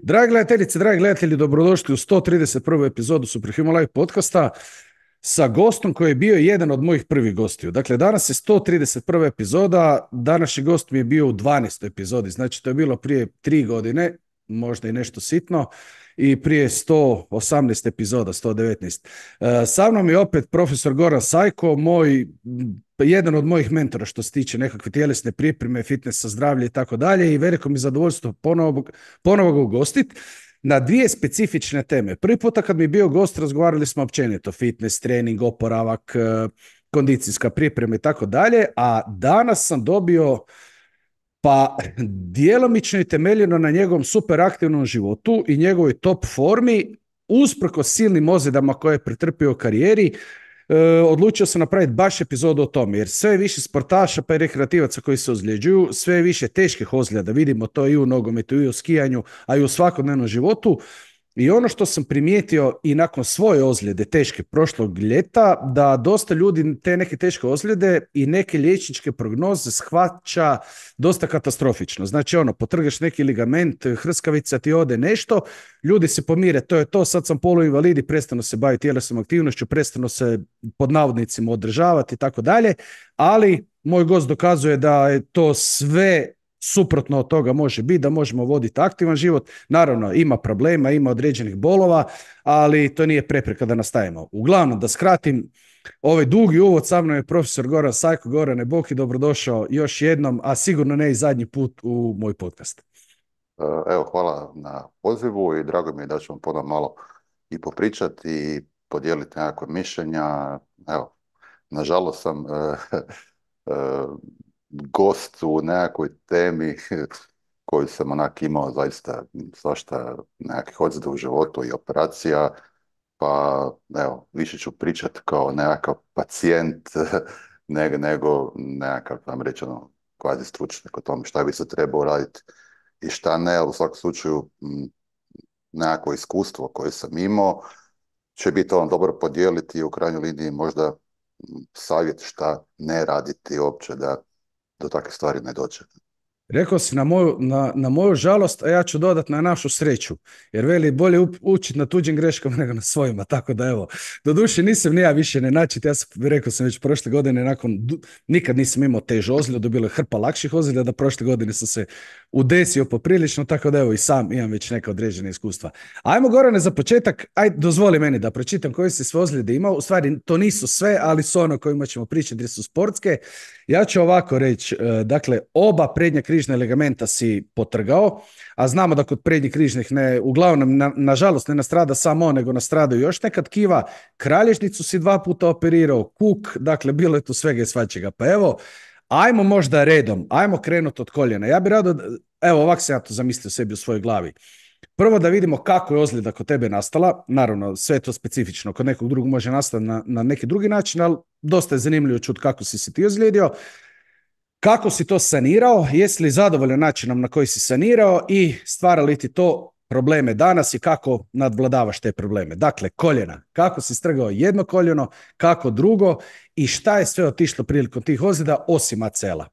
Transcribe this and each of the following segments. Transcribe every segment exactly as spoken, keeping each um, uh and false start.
Dragi gledateljice, dragi gledatelji, dobrodošli u sto trideset prvu epizodu Superhuman Live podcasta sa gostom koji je bio jedan od mojih prvih gostiju. Dakle, danas je sto trideset prva epizoda, današnji gost mi je bio u dvanaestoj epizodi, znači to je bilo prije tri godine, možda i nešto sitno, i prije sto osamnaest epizoda, sto devetnaest. E, sa mnom je opet profesor Goran Sajko, moj, jedan od mojih mentora što se tiče nekakve tjelesne pripreme, fitnessa, zdravlja i tako dalje, i veliko mi zadovoljstvo ponovo, ponovo ga ugostiti na dvije specifične teme. Prvi puta kad mi je bio gost razgovarali smo općenito fitness, trening, oporavak, kondicijska priprema i tako dalje, a danas sam dobio pa djelomično i temeljeno na njegovom superaktivnom životu i njegovoj top formi, usprkos silnim ozljedama koje je pretrpio u karijeri, e, odlučio sam napraviti baš epizodu o tome, jer sve je više sportaša pa i rekreativaca koji se ozljeđuju, sve je više teških ozljeda, vidimo to i u nogometu, i u skijanju, a i u svakodnevnom životu. I ono što sam primijetio i nakon svoje ozljede teške prošlog ljeta, da dosta ljudi te neke teške ozljede i neke liječničke prognoze shvaća dosta katastrofično. Znači ono, potrgaš neki ligament, hrskavica ti ode nešto, ljudi se pomire, to je to, sad sam poluinvalid i prestanu se baviti tjelesnom aktivnošću, prestanu se pod navodnicima održavati i tako dalje, ali moj gost dokazuje da je to sve suprotno od toga može biti, da možemo voditi aktivan život. Naravno, ima problema, ima određenih bolova, ali to nije prepreka da nastavimo. Uglavnom, da skratim, ovaj dugi uvod, sa mnom je profesor Goran Sajko. Gorane, bog i dobrodošao još jednom, a sigurno ne i zadnji put u moj podcast. Evo, hvala na pozivu i drago mi je da ćemo ponovno malo i popričati i podijeliti nekakve mišljenja. Evo, nažalost sam uh, uh, gost u nekakvoj temi koju sam onak imao zaista svašta nekakvih ozljeda u životu i operacija, pa evo, više ću pričati kao nekakav pacijent nego, nego nekakav, vam reći, ono, kvazi stručnjak o tome šta bi se trebao raditi i šta ne, ali u svakom slučaju m, nekako iskustvo koje sam imao će biti on dobro podijeliti i u krajnjoj liniji možda m, savjet šta ne raditi uopće da do takve stvari ne dođe. Rekao si na moju, na, na moju žalost, a ja ću dodati na našu sreću. Jer veli, bolje učiti na tuđim greškama nego na svojima. Tako da evo, doduše nisam ni ja više ne načit. Ja sam, rekao sam već prošle godine, nakon, nikad nisam imao težu ozljedu, bilo je hrpa lakših ozljeda, da prošle godine sam se udesio poprilično, tako da evo i sam imam već neka određena iskustva. Ajmo, Gorane, za početak, aj dozvoli meni da pročitam koje si sve ozljede imao. U stvari, to nisu sve, ali su ono kojima ćemo pričati jer su sportske. Ja ću ovako reći, dakle, oba prednja križna ligamenta si potrgao, a znamo da kod prednjih križnih ne, uglavnom, na, nažalost, ne nastrada samo on, nego nastradaju još neka tkiva. Kralježnicu si dva puta operirao, kuk, dakle, bilo je tu svega i svačega. Pa evo, ajmo možda redom, ajmo krenuti od koljena. Ja bih rado, evo, ovako sam ja to zamislio sebi u svojoj glavi. Prvo da vidimo kako je ozljeda kod tebe nastala. Naravno, sve je to specifično. Kod nekog drugog može nastati na, na neki drugi način, ali dosta je zanimljivo čuti kako si se ti ozlijedio. Kako si to sanirao? Jesi li zadovoljan načinom na koji si sanirao i stvara li ti to probleme danas i kako nadvladavaš te probleme? Dakle, koljena. Kako si strgao jedno koljeno, kako drugo i šta je sve otišlo prilikom tih ozljeda osim acela?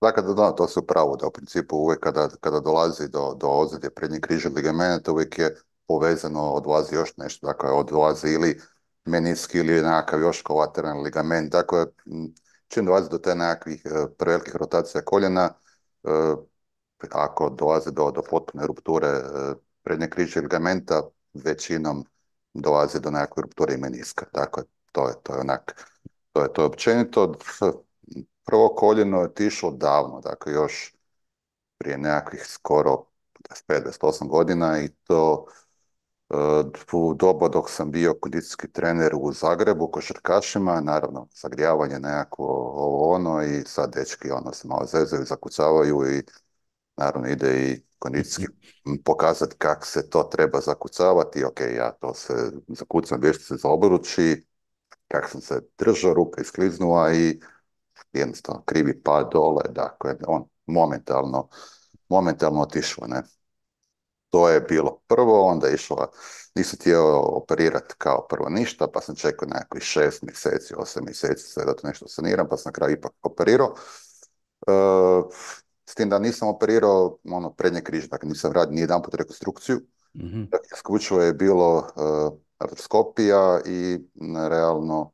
Dakle, da, da, to se upravo da u principu uvijek kada, kada dolazi do, do ozljede prednjeg križnog ligamenta uvijek je povezano, odlazi još nešto, dakle odlazi ili meniski ili nekakav još kolateralni ligament, dakle m, čim dolazi do te nekakvih e, prevelikih rotacija koljena, e, ako dolazi do, do potpune rupture e, prednjeg križnog ligamenta, većinom dolazi do nekakve rupture i meniska, dakle to je, to je onak, to je to je općenito. Prvo koljeno je otišlo davno, dakle još prije nekakvih skoro dvadeset pet, dvadeset osam godina i to uh, u doba dok sam bio kondicijski trener u Zagrebu košarkašima, naravno zagrijavanje nekako ovo ono i sad dečki ono se malo zezaju, zakucavaju i naravno ide i kondicijski pokazati kako se to treba zakucavati. Ok, ja to se zakucam vještice za obruči, kako sam se držao, ruka iskliznula i jednostavno krivi pad dole, dakle, on momentalno, momentalno otišlo, ne. To je bilo prvo, onda je išla, nisam htio operirati kao prvo ništa, pa sam čekao nekakvih šest mjeseci, osam mjeseci sve da to nešto saniram, pa sam na kraju ipak operirao. E, s tim da nisam operirao ono prednje križ, dakle nisam radio ni jedan put rekonstrukciju, Mhm. dakle, isključivo je bilo uh, artroskopija i m, realno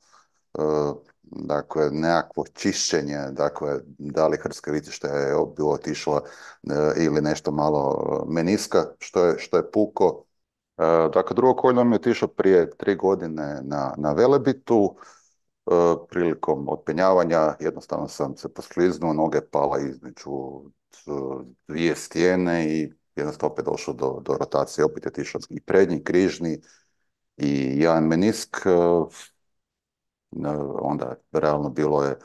uh, dakle nekakvo čišćenje, dakle da li hrska vitišta je bilo otišla uh, ili nešto malo uh, meniska, što je, što je puko. Uh, dakle, drugo koljeno mi je otišlo prije tri godine na, na Velebitu. Uh, prilikom otpenjavanja jednostavno sam se poskliznuo, noge pala između uh, dvije stijene i jednostavno opet došlo do, do rotacije, opet je otišao i prednji, križni i jedan menisk. Uh, uh, onda realno bilo je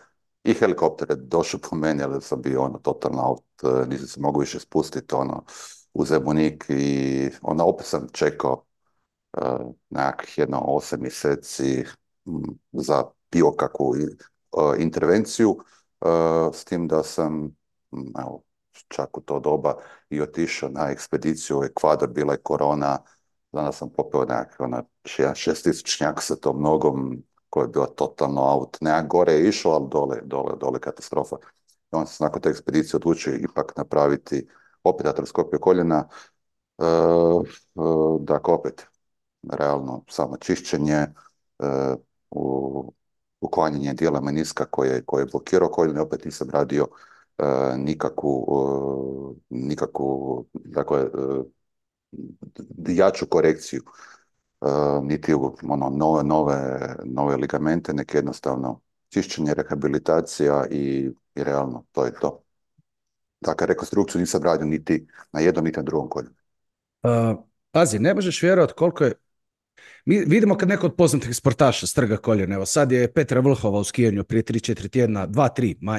i helikopter je došao po meni, ali sam bio ono totalno out, uh, nisam se mogao više spustiti ono u Zemunik i onda opet sam čekao uh, nekakvih jedno osam mjeseci m, za bilo kakvu uh, intervenciju, uh, s tim da sam m, evo, čak u to doba i otišao na ekspediciju u Ekvador, bila je korona, danas sam popeo nekakve ona šestistisućnjak sa tom nogom koja je bila totalno out, nekak gore je išao, ali dole, dole, dole katastrofa. I onda sam nakon te ekspedicije odlučio ipak napraviti opet artroskopiju koljena, uh, uh, dakle opet realno samo čišćenje, uh, u, uklanjanje dijela meniska koje, koje je blokirao koljeno, opet nisam radio uh, nikakvu, uh, nikakvu dakle, uh, jaču korekciju, uh, niti u ono, nove, nove, nove ligamente, nek jednostavno čišćenje, rehabilitacija i, i realno to je to. Dakle, rekonstrukciju nisam radio niti na jednom, niti na drugom koljenu. Uh, pazi, ne možeš vjerovati koliko je. Mi vidimo kad neko od poznatih sportaša strga koljeno. Evo sad je Petra Vlhova u skijanju prije tri četiri tjedna, dva tri, uh,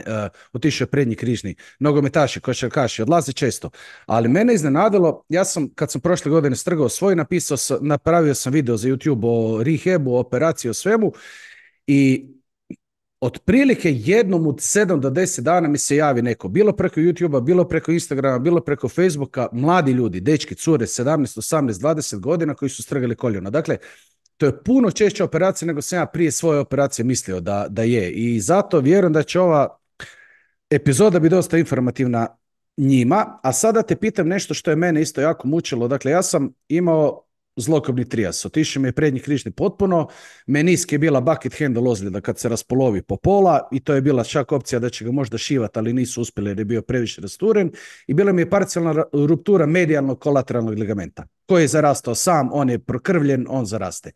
otišao je prednji križni. Nogometaši, košarkaši, odlaze često. Ali mene iznenadilo, ja sam kad sam prošle godine strgao svoj, napisao sam, napravio sam video za YouTube o rehabu, o operaciji, o svemu i otprilike jednom od sedam do deset dana mi se javi neko, bilo preko YouTube-a, bilo preko Instagrama, bilo preko Facebooka, mladi ljudi, dečki, cure, sedamnaest, osamnaest, dvadeset godina koji su strgali koljeno. Dakle, to je puno češća operacija nego sam ja prije svoje operacije mislio da, da je. I zato vjerujem da će ova epizoda biti dosta informativna njima. A sada te pitam nešto što je mene isto jako mučilo. Dakle, ja sam imao zlokobni trijas. Otišao mi je prednji križni potpuno, menisk je bila bucket handle ozljeda kad se raspolovi po pola i to je bila čak opcija da će ga možda šivati, ali nisu uspjeli jer je bio previše rasturen i bila mi je parcijalna ruptura medijalnog kolateralnog ligamenta koji je zarastao sam, on je prokrvljen, on zaraste.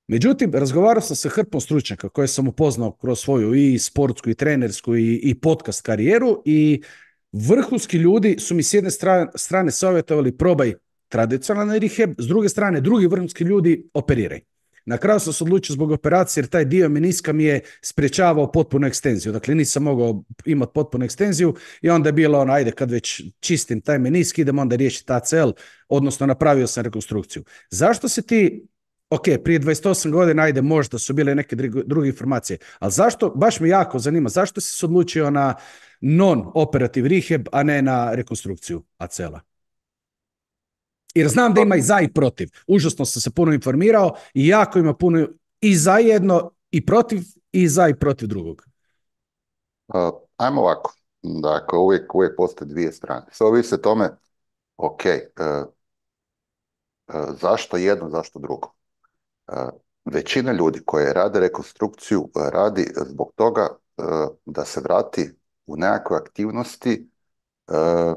Međutim, razgovarao sam sa hrpom stručnjaka koje sam upoznao kroz svoju i sportsku i trenersku i, i podcast karijeru i vrhunski ljudi su mi s jedne strane, strane savjetovali probaj tradicionalni rehab, s druge strane drugi vrhunski ljudi operiraj. Na kraju sam se odlučio zbog operacije jer taj dio meniska mi je sprječavao potpunu ekstenziju. Dakle, nisam mogao imati potpunu ekstenziju i onda je bilo ono, ajde kad već čistim taj menisk, idem onda riješiti A C L, odnosno napravio sam rekonstrukciju. Zašto se ti, ok, prije dvadeset osam godina, ajde možda su bile neke druge informacije, ali zašto, baš me jako zanima, zašto si se odlučio na non-operativ rehab, a ne na rekonstrukciju A C L-a? Jer znam da ima i za i protiv. Užasno sam se puno informirao i jako ima puno i za jedno i protiv i za i protiv drugog. Uh, ajmo ovako. Dakle, uvijek, uvijek postoje dvije strane. Sve ovisi o tome, ok, uh, uh, zašto jedno, zašto drugo. Uh, većina ljudi koje rade rekonstrukciju uh, radi zbog toga uh, da se vrati u nekakve aktivnosti uh,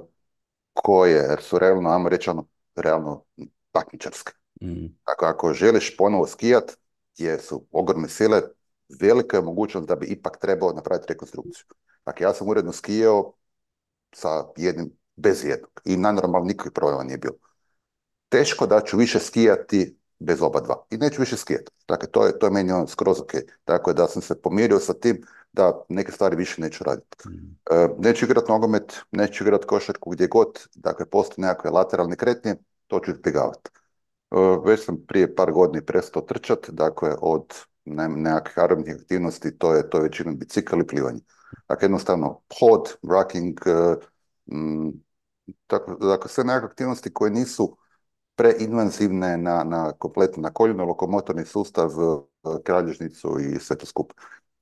koje jer su realno, ajmo reći, ono, realno takmičarske. Mm. Dakle, ako želiš ponovo skijat, gdje su ogromne sile, velika je mogućnost da bi ipak trebao napraviti rekonstrukciju. Dakle, ja sam uredno skijao sa jednim, bez jednog. I najnormalno nikakvih problema nije bilo. Teško da ću više skijati bez oba dva. I neću više skijati. Dakle, to je, to je meni ono skroz ok. Dakle, da sam se pomirio sa tim da neke stvari više neću raditi. Mm. E, neću igrati nogomet, neću igrati košarku gdje god, dakle, postoje nekakve lateralne kretnje, to ću izbjegavati. E, već sam prije par godina prestao trčati, dakle, od ne, nekakvih aerobnih aktivnosti, to je, to je većinom bicikl i plivanje. Dakle, jednostavno, hod, running, m, tako, dakle, sve nekakve aktivnosti koje nisu preinvazivne na, na kompletno na koljeno, lokomotorni sustav, kralježnicu i sve to skup.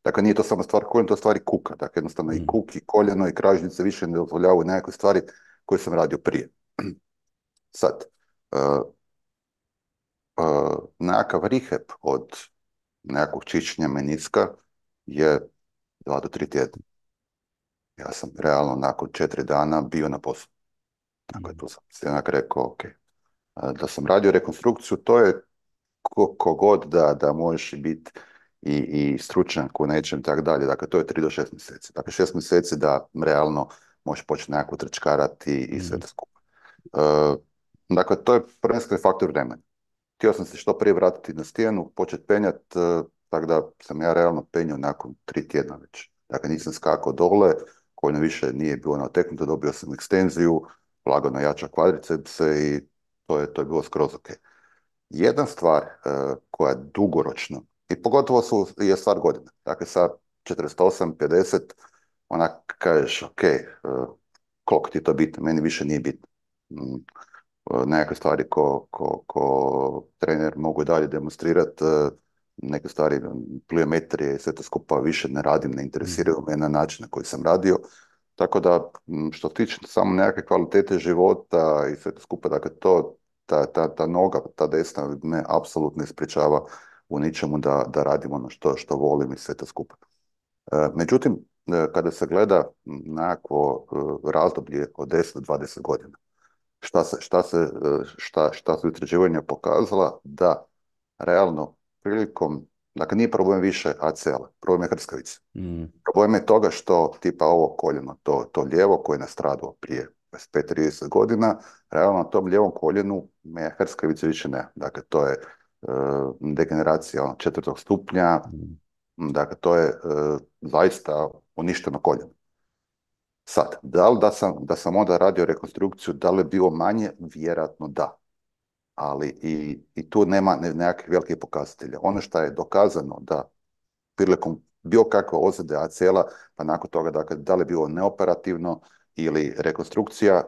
Dakle, nije to samo stvar koljena, to je stvar i kuka. Dakle, jednostavno i Mm. kuk, i koljeno, i kražnice više ne dozvoljavaju nekakve stvari koje sam radio prije. Sad, uh, uh, nekakav rehab od nekakvog čišćenja meniska je dva do tri tjedna. Ja sam realno nakon četiri dana bio na poslu. Dakle, Mm. tu sam se onak rekao, ok, da sam radio rekonstrukciju, to je ko, kogod da, da možeš biti i, i stručnjak u nečem i tako dalje. Dakle, to je tri do šest mjeseci. Dakle, šest mjeseci da realno možeš početi nekako trčkarati i sve Mm. to skupa. E, dakle, to je prvenstveni faktor vremena. Htio sam se što prije vratiti na stijenu, početi penjati, e, tako da sam ja realno penjao nakon tri tjedna već. Dakle, nisam skakao dole, koljeno više nije bilo nateknuto, dobio sam ekstenziju, lagano jača kvadricepse i to je, to je bilo skroz ok. Jedna stvar uh, koja je dugoročno, i pogotovo su, je stvar godina. Dakle, sa četrdeset osam, pedeset, onak kažeš, ok, uh, koliko ti je to bitno, meni više nije bitno. Mm, uh, nekakve stvari ko, ko, ko trener mogu dalje demonstrirati, uh, neke stvari, pliometrije i sve to skupa više ne radim, ne Mm. interesiraju me na način na koji sam radio. Tako da, m, što se tiče samo nekakve kvalitete života i sve to skupa, dakle, to, ta, ta, ta noga, ta desna me apsolutno ne sprječava u ničemu da, da radim ono što, što volim i sve to skupa. E, međutim, e, kada se gleda nekakvo e, razdoblje od deset do dvadeset godina, šta, se, šta, se, e, šta, šta su istraživanja pokazala da realno prilikom, dakle nije problem više A C L, problem je hrskavice. Mm. Problem je toga što tipa ovo koljeno, to, to lijevo koje je nastradalo prije dvadeset pet trideset godina, realno na tom lijevom koljenu me hrskavice više ne. Dakle, to je e, degeneracija ono, četvrtog stupnja, Mm. dakle, to je e, zaista uništeno koljeno. Sad, da li da sam, da sam onda radio rekonstrukciju, da li je bilo manje? Vjerojatno da. Ali i, i tu nema ne- nekakvih velikih pokazatelja. Ono što je dokazano da prilikom bilo kakve ozljede A C L-a, pa nakon toga, dakle, da li je bilo neoperativno ili rekonstrukcija, e,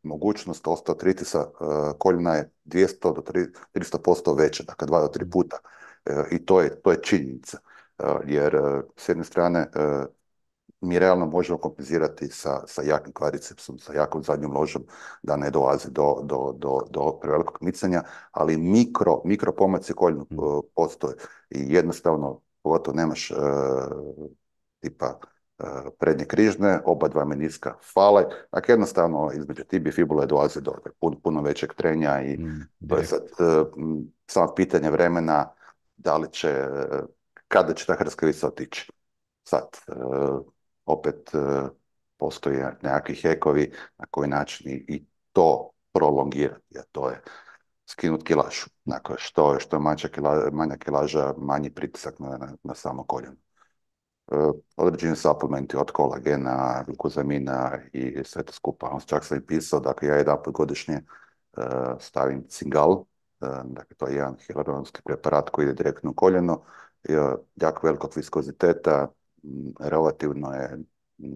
mogućnost osteoartritisa e, koljena je dvjesto do tristo posto veća, dakle dva do tri Mm. puta. E, I to je, to je činjenica. E, jer e, s jedne strane e, mi realno možemo kompenzirati sa, sa jakim kvadricepsom, sa jakom zadnjom ložom, da ne dolazi do, do, do, do prevelikog micanja, ali mikro, mikro pomaci koljenu Mm. uh, postoje i jednostavno, pogotovo nemaš uh, tipa uh, prednje križne, oba dva meniska fale, dakle jednostavno između tibije i fibule dolazi do puno, puno većeg trenja i Mm. to je Direkt. sad uh, samo pitanje vremena da li će, uh, kada će ta hrskavica otići. Sad, uh, opet uh, postoje nekakvi hekovi na koji način i, i to prolongirati, a to je skinuti kilažu. Dakle, što, što je manja, kila, manja kilaža, manji pritisak na, na, na samo koljeno. Uh, određeni suplementi od kolagena, glukozamina i sve to skupa. On čak sam i pisao, dakle ja jedan put godišnje uh, stavim cingal, uh, dakle to je jedan hialuronski preparat koji ide direktno u koljeno, uh, jako velikog viskoziteta, m, relativno je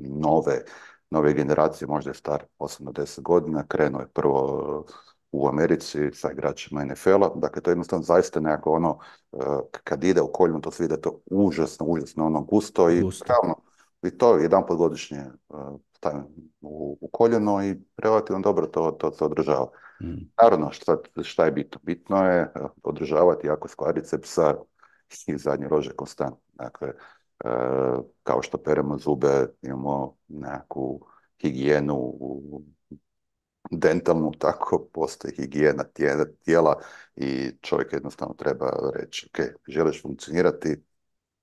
nove, nove generacije, možda je star osam do deset godina, krenuo je prvo u Americi sa igračima N F L-a, dakle to je jednostavno zaista nekako ono, uh, kad ide u koljenu to se vidi da je to užasno, užasno ono gusto i Gusto. realno i to jedan put godišnje uh, stavim u, u koljeno i relativno dobro to, to se održava. Mm. Naravno, šta, šta je bitno? Bitno je uh, održavati jako kvadricepsa i zadnje lože konstantno. Dakle, uh, kao što peremo zube, imamo nekakvu higijenu u dentalnu, tako postoji higijena tijela, tijela i čovjek jednostavno treba reći, ok, želiš funkcionirati,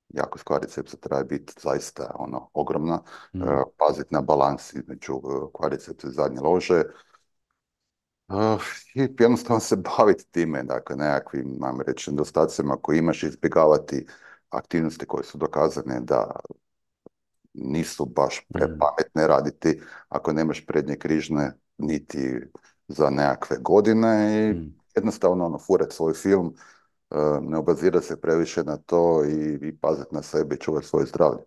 jako kvadricepsa treba biti zaista ono ogromna, Mm. uh, paziti na balans između uh, kvadricepsa i zadnje lože, uh, i jednostavno se baviti time, dakle nekakvim, mam reći, nedostacima koje imaš, izbjegavati aktivnosti koje su dokazane da nisu baš Mm. prepametne raditi ako nemaš prednje križne niti za nekakve godine i Mm. jednostavno ono, furati svoj film, uh, ne obazirati se previše na to i, i paziti na sebe i čuvati svoje zdravlje.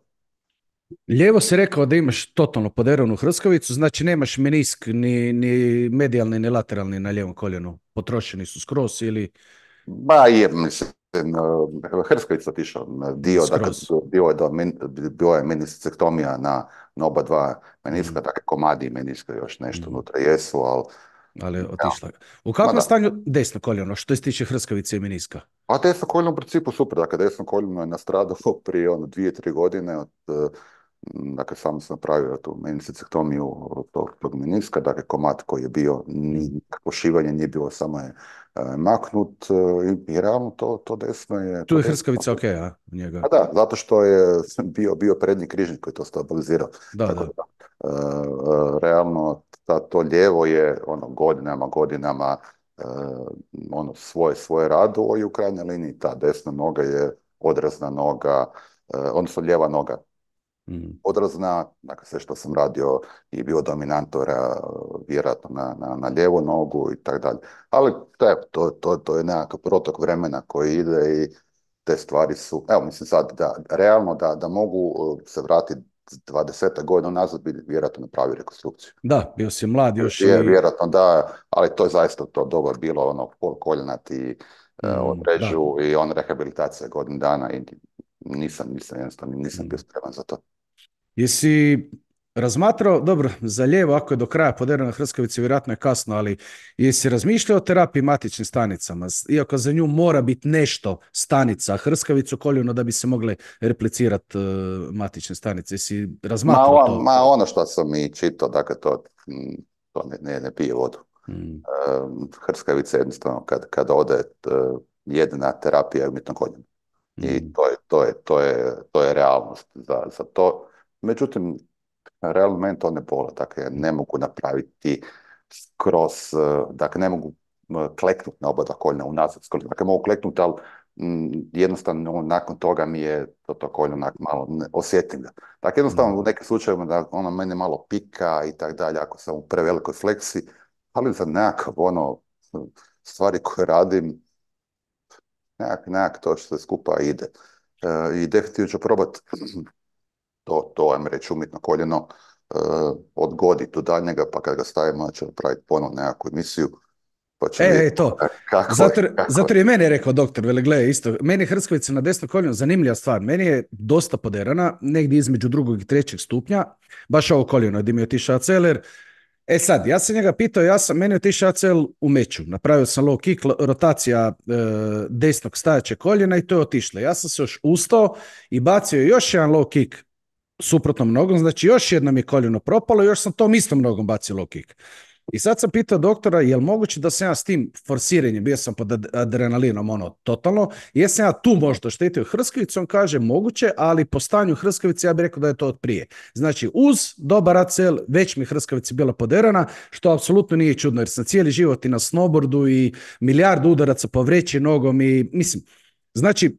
Lijevo si rekao da imaš totalno poderanu hrskavicu, znači nemaš menisk ni, ni medijalni ni lateralni na lijevom koljenu. Potrošeni su skroz ili... Ba je, mislim, Hrsković otišao, dio, dakle, Skroz. bio je, do, bio je meniscektomija na, na oba dva Mm, meniska, dakle komadi meniska još nešto mm, unutra jesu, ali ali je ja, otišla. U ma kakvom da. stanju desno koljeno, što se tiče hrskavice i meniska? A desno koljeno u principu super, dakle desno koljeno je nastradalo prije ono dvije, tri godine od, eh, dakle samo sam napravio tu meniscektomiju tog, tog meniska, dakle komad koji je bio, Mm. nikakvo šivanje nije bilo, samo je eh, maknut eh, i, i realno to, to desno je, Tu to je desno. hrskavica ok, a? U njega. A da, zato što je bio, bio prednji križnik koji je to stabilizirao. Da, Tako da. da, e, e, realno, ta, to lijevo je ono, godinama, godinama e, ono, svoje, svoje radilo i u krajnjoj liniji ta desna noga je odrazna noga, e, odnosno lijeva noga Mm. odrazna, dakle sve što sam radio i bio dominantora vjerojatno na, na, na lijevu nogu i tako dalje. Ali to je, to, to, to je nekakav protok vremena koji ide i te stvari su, evo mislim sad da realno da, da mogu uh, se vratiti dvadeset godina nazad bi vjerojatno napravio rekonstrukciju. Da, bio si mlad još Je, i... vjerojatno da, ali to je zaista to doba bilo ono pol koljena ti uh, Mm, da. odrežu i on rehabilitacija godinu dana i nisam, nisam jednostavno nisam bio Mm. spreman za to. Jesi razmatrao, dobro, za lijevo, ako je do kraja poderana hrskavica, vjerojatno je kasno, ali jesi razmišljao o terapiji matičnim stanicama, S- iako za nju mora biti nešto stanica, hrskavicu koljeno da bi se mogle replicirati matične stanice. Jesi Ma, razmatrao on, to? ma ono što sam i čitao, dakle to, mm, to ne, ne, ne pije vodu. Mm, Um, Hrskavica jednostavno kad, kad ode uh, jedina terapija je umjetno koljeno. I mm, to je, to je, to je, to je realnost za, za to. Međutim, realno meni to ne bola, dakle ne mogu napraviti skroz, uh, dakle ne mogu uh, kleknuti na oba dva koljena unazad skroz. Dakle mogu kleknuti, ali mm, jednostavno nakon toga mi je to, to koljeno onak malo ne, osjetim ga. Dakle jednostavno u mm, nekim slučajevima da ono mene malo pika i tak dalje ako sam u prevelikoj fleksi, ali za nekakav ono stvari koje radim, nekak, nekak to što se skupa ide. E, I definitivno ću probat to, to ajmo reći, umjetno koljeno e, odgoditi do daljnjega, pa kad ga stavimo, onda ću napraviti ponovno nekakvu emisiju, pa ću E, vidjeti e, to. kako Zato, je, jer- kako zato je. jer je meni rekao doktor, vele, gle, isto, meni je hrskavica na desno koljeno zanimljiva stvar. Meni je dosta poderana, negdje između drugog i trećeg stupnja, baš ovo koljeno, gdje mi je otišao aceler. E sad, ja sam njega pitao, ja sam, meni je otišao A C L u meču, napravio sam low kick, lo- rotacija e, desnog stajaćeg koljena i to je otišlo. Ja sam se još ustao i bacio još jedan low kick suprotnom nogom, znači još jednom je koljeno propalo, još sam tom istom nogom bacio low kick. I sad sam pitao doktora, je li moguće da sam ja s tim forsiranjem, bio sam pod ad- adrenalinom, ono, totalno, jesam ja tu možda štetio hrskavicu, on kaže moguće, ali po stanju hrskavice ja bih rekao da je to od prije. Znači, uz dobar A C L, već mi hrskavica bila poderana, što apsolutno nije čudno, jer sam cijeli život i na snowboardu i milijardu udaraca po vreći nogom i, mislim, znači,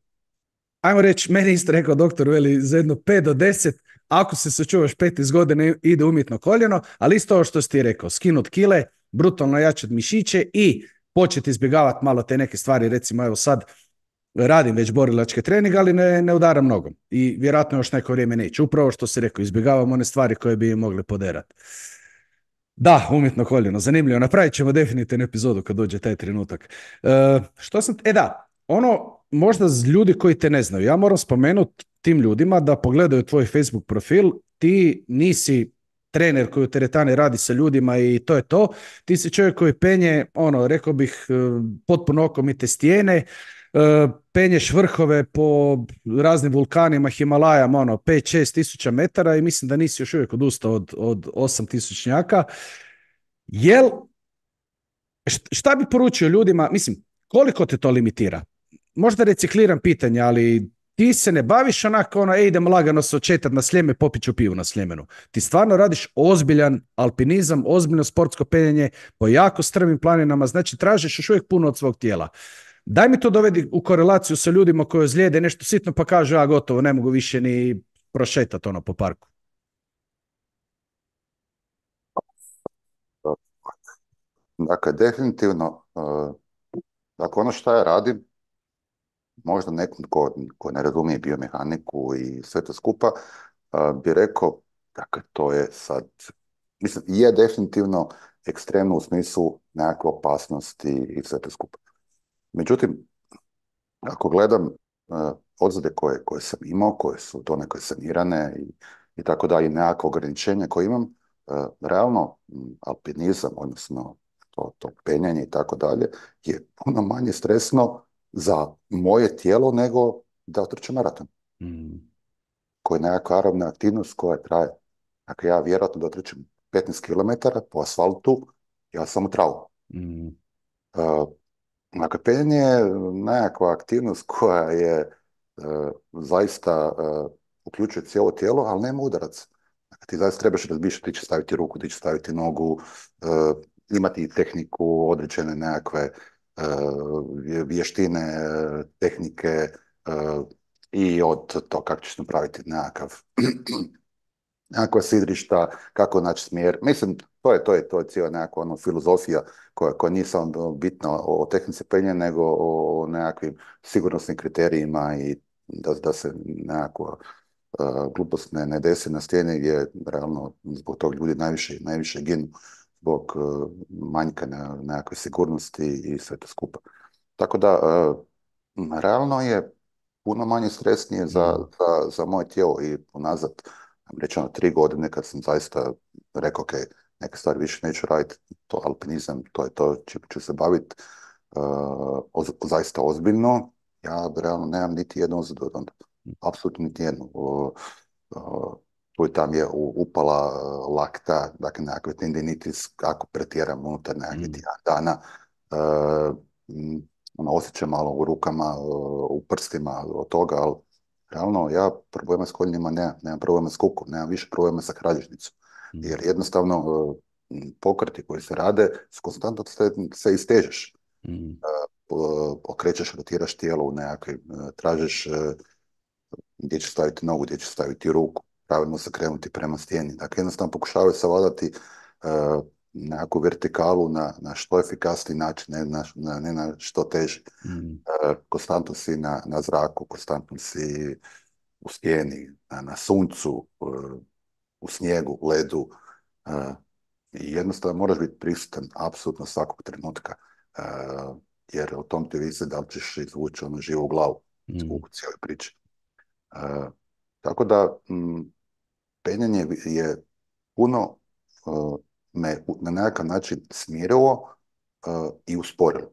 ajmo reći, meni isto rekao doktor, veli, za jedno pet do deset, ako se sačuvaš petnaest godina ide umjetno koljeno, ali isto ovo što si ti rekao, skinut kile, brutalno jačat mišiće i početi izbjegavati malo te neke stvari, recimo evo sad radim već borilačke treninge, ali ne, ne udaram nogom i vjerojatno još neko vrijeme neće. Upravo što si rekao, izbjegavam one stvari koje bi mogle poderati. Da, umjetno koljeno, zanimljivo. Napravit ćemo definitivno epizodu kad dođe taj trenutak. E, što sam... E da, ono, možda z- ljudi koji te ne znaju, ja moram spomenuti tim ljudima da pogledaju tvoj Facebook profil, ti nisi trener koji u teretani radi sa ljudima i to je to. Ti si čovjek koji penje, ono, rekao bih, e, potpuno okomite stijene, e, penješ vrhove po raznim vulkanima, Himalajama, ono, pet šest tisuća metara i mislim da nisi još uvijek odustao od, od osam tisućnjaka. Jel, št- šta bi poručio ljudima, mislim, koliko te to limitira? Možda recikliram pitanje, ali ti se ne baviš onako, ono, ej, idem lagano se očetat na Sljeme, popit ću pivu na Sljemenu. Ti stvarno radiš ozbiljan alpinizam, ozbiljno sportsko penjanje po jako strmim planinama, znači tražiš još uvijek puno od svog tijela. Daj mi to dovedi u korelaciju sa ljudima koji ozlijede nešto sitno pa kažu, ja gotovo, ne mogu više ni prošetat ono po parku. Dakle, definitivno, e, dakle ono što ja radim, možda nekom ko, ko ne razumije biomehaniku i sve to skupa, a, bi rekao, dakle, to je sad, mislim, je definitivno ekstremno u smislu nekakve opasnosti i sve to skupa. Međutim, ako gledam uh, ozljede koje, koje sam imao, koje su donekle sanirane i, i tako dalje, i nekakve ograničenja koje imam, uh, realno m, alpinizam, odnosno to, to penjanje i tako dalje, je puno manje stresno za moje tijelo nego da otrčem maraton, Mm, koji je nekakva aerobna aktivnost koja traje. Dakle, ja vjerojatno da otrčem petnaest kilometara po asfaltu, ja sam u travu. mm, Uh, Dakle, penjanje je nekakva aktivnost koja je e, zaista e, uključuje cijelo tijelo, ali nema udarac. Dakle, ti zaista trebaš razmišljati, ti će staviti ruku, ti će staviti nogu, e, imati tehniku, određene nekakve e, vještine, e, tehnike e, i od to kako ćeš napraviti nekakav nekakva sidrišta, kako naći smjer. Mislim, to je, to je, to je cijela nekakva ono, filozofija koja, koja nije samo bitna o, o tehnici penja, nego o nekakvim sigurnosnim kriterijima i da, da se nekakva uh, glupost ne, ne desi na stijeni gdje realno zbog tog ljudi najviše, najviše ginu zbog uh, manjka na nekakve sigurnosti i sve to skupa. Tako da, uh, realno je puno manje stresnije za, mm, za, za moje tijelo i unazad, rečeno, tri godine kad sam zaista rekao, ok, neke stvari više neću raditi, to alpinizam, to je to čim ću se baviti uh, oz, zaista ozbiljno, ja realno nemam niti jednu ozljedu od onda. Apsolutno niti jednu. Uh, uh, tu i tam je u- upala uh, lakta, dakle nekakve tendinitis, ako pretjeram unutar nekakvih mm, tjedan dana. Uh, m, ono, osjećam malo u rukama, uh, u prstima od toga, ali realno ja problema s koljenima nemam, nemam problema s kukom, nemam više problema sa kralježnicom. mm, Jer jednostavno uh, m, pokreti koji se rade su konstantno se, se istežeš. mm, Uh, okrećeš, rotiraš tijelo u nekakvim, uh, tražiš uh, gdje će staviti nogu, gdje će staviti ruku, pravilno se krenuti prema stijeni. Dakle, jednostavno pokušavaju savladati uh, nekakvu vertikalu na, na što efikasniji način, ne na, na, ne na što teži. mm, Uh, konstantno si na, na zraku, konstantno si u stijeni, na, na suncu, uh, u snijegu, u ledu. Uh, I jednostavno moraš biti prisutan apsolutno svakog trenutka. Uh, jer o tom ti visi da li ćeš izvući ono živu glavu mm, u cijeloj priči. Uh, Tako da m, penjanje je puno uh, me u- na nekakav način smirilo uh, i usporilo.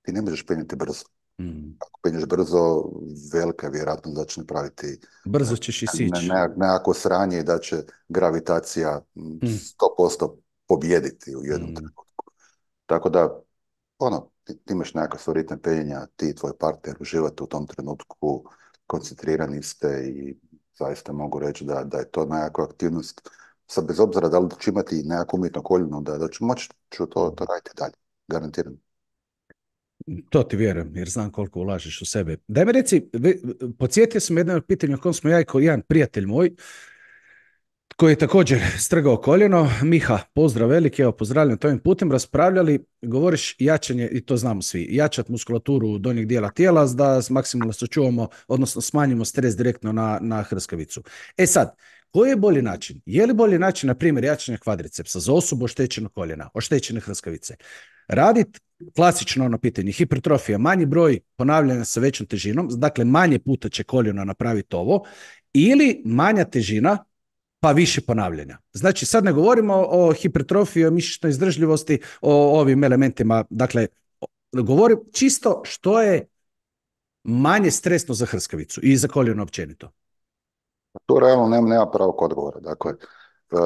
Ti ne možeš penjati brzo. mm. Ako penješ brzo, velika je vjerojatnost da će napraviti uh, Brzo ćeš i ne, sići. ne, nekako sranje i da će gravitacija m, Mm, sto posto pobijediti u jednom mm, trenutku. Tako da, ono, ti, ti imaš nekakav svoj ritam penjenja, ti i tvoj partner uživate u tom trenutku, koncentrirani ste i zaista mogu reći da, da je to nekakva aktivnost, sad bez obzira da li ću imati nekakvu umjetno koljeno, da, da ću moći ću to, to mm. raditi dalje, garantiram. To ti vjerujem, jer znam koliko ulažeš u sebe. Daj mi reci, ve- podsjetio sam jedno pitanje o kojem smo ja i ko jedan prijatelj moj, koji je također strgao koljeno, Miha, pozdrav veliki, evo pozdravljam to ovim putem, raspravljali, govoriš jačanje, i to znamo svi, jačat muskulaturu donjeg dijela tijela da maksimalno sačuvamo, odnosno smanjimo stres direktno na, na hrskavicu. E sad, koji je bolji način? Je li bolji način, na primjer, jačanje kvadricepsa za osobu oštećenog koljena, oštećene hrskavice? Radit klasično ono pitanje, hipertrofija, manji broj ponavljanja sa većom težinom, dakle manje puta će koljeno napraviti ovo, ili manja težina, pa više ponavljanja. Znači, sad ne govorimo o hipertrofiji, o mišićnoj izdržljivosti, o ovim elementima. Dakle, govorim čisto što je manje stresno za hrskavicu i za koljeno općenito. Tu realno nema, nema pravog odgovora. Dakle, e,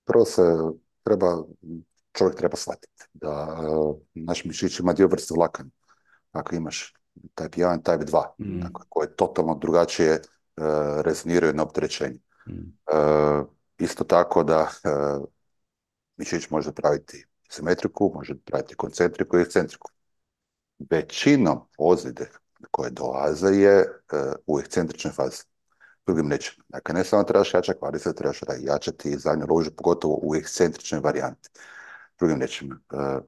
prvo se treba, čovjek treba shvatiti da e, naš mišić ima dio vrste vlakana. Ako imaš type jedan, type dva, Mm, dakle, koje totalno drugačije e, rezoniraju na opterećenje. mm, E, Isto tako da e, mišić može praviti simetriku, može praviti koncentriku i ekscentriku. Većinom ozljede koje dolaze je e, u ekscentričnoj fazi. Drugim rečima, dakle, ne samo trebaš jačati kvadriceps, trebaš jačati zadnju ružu, pogotovo u ekscentričnoj varijanti. Drugim rečima, e,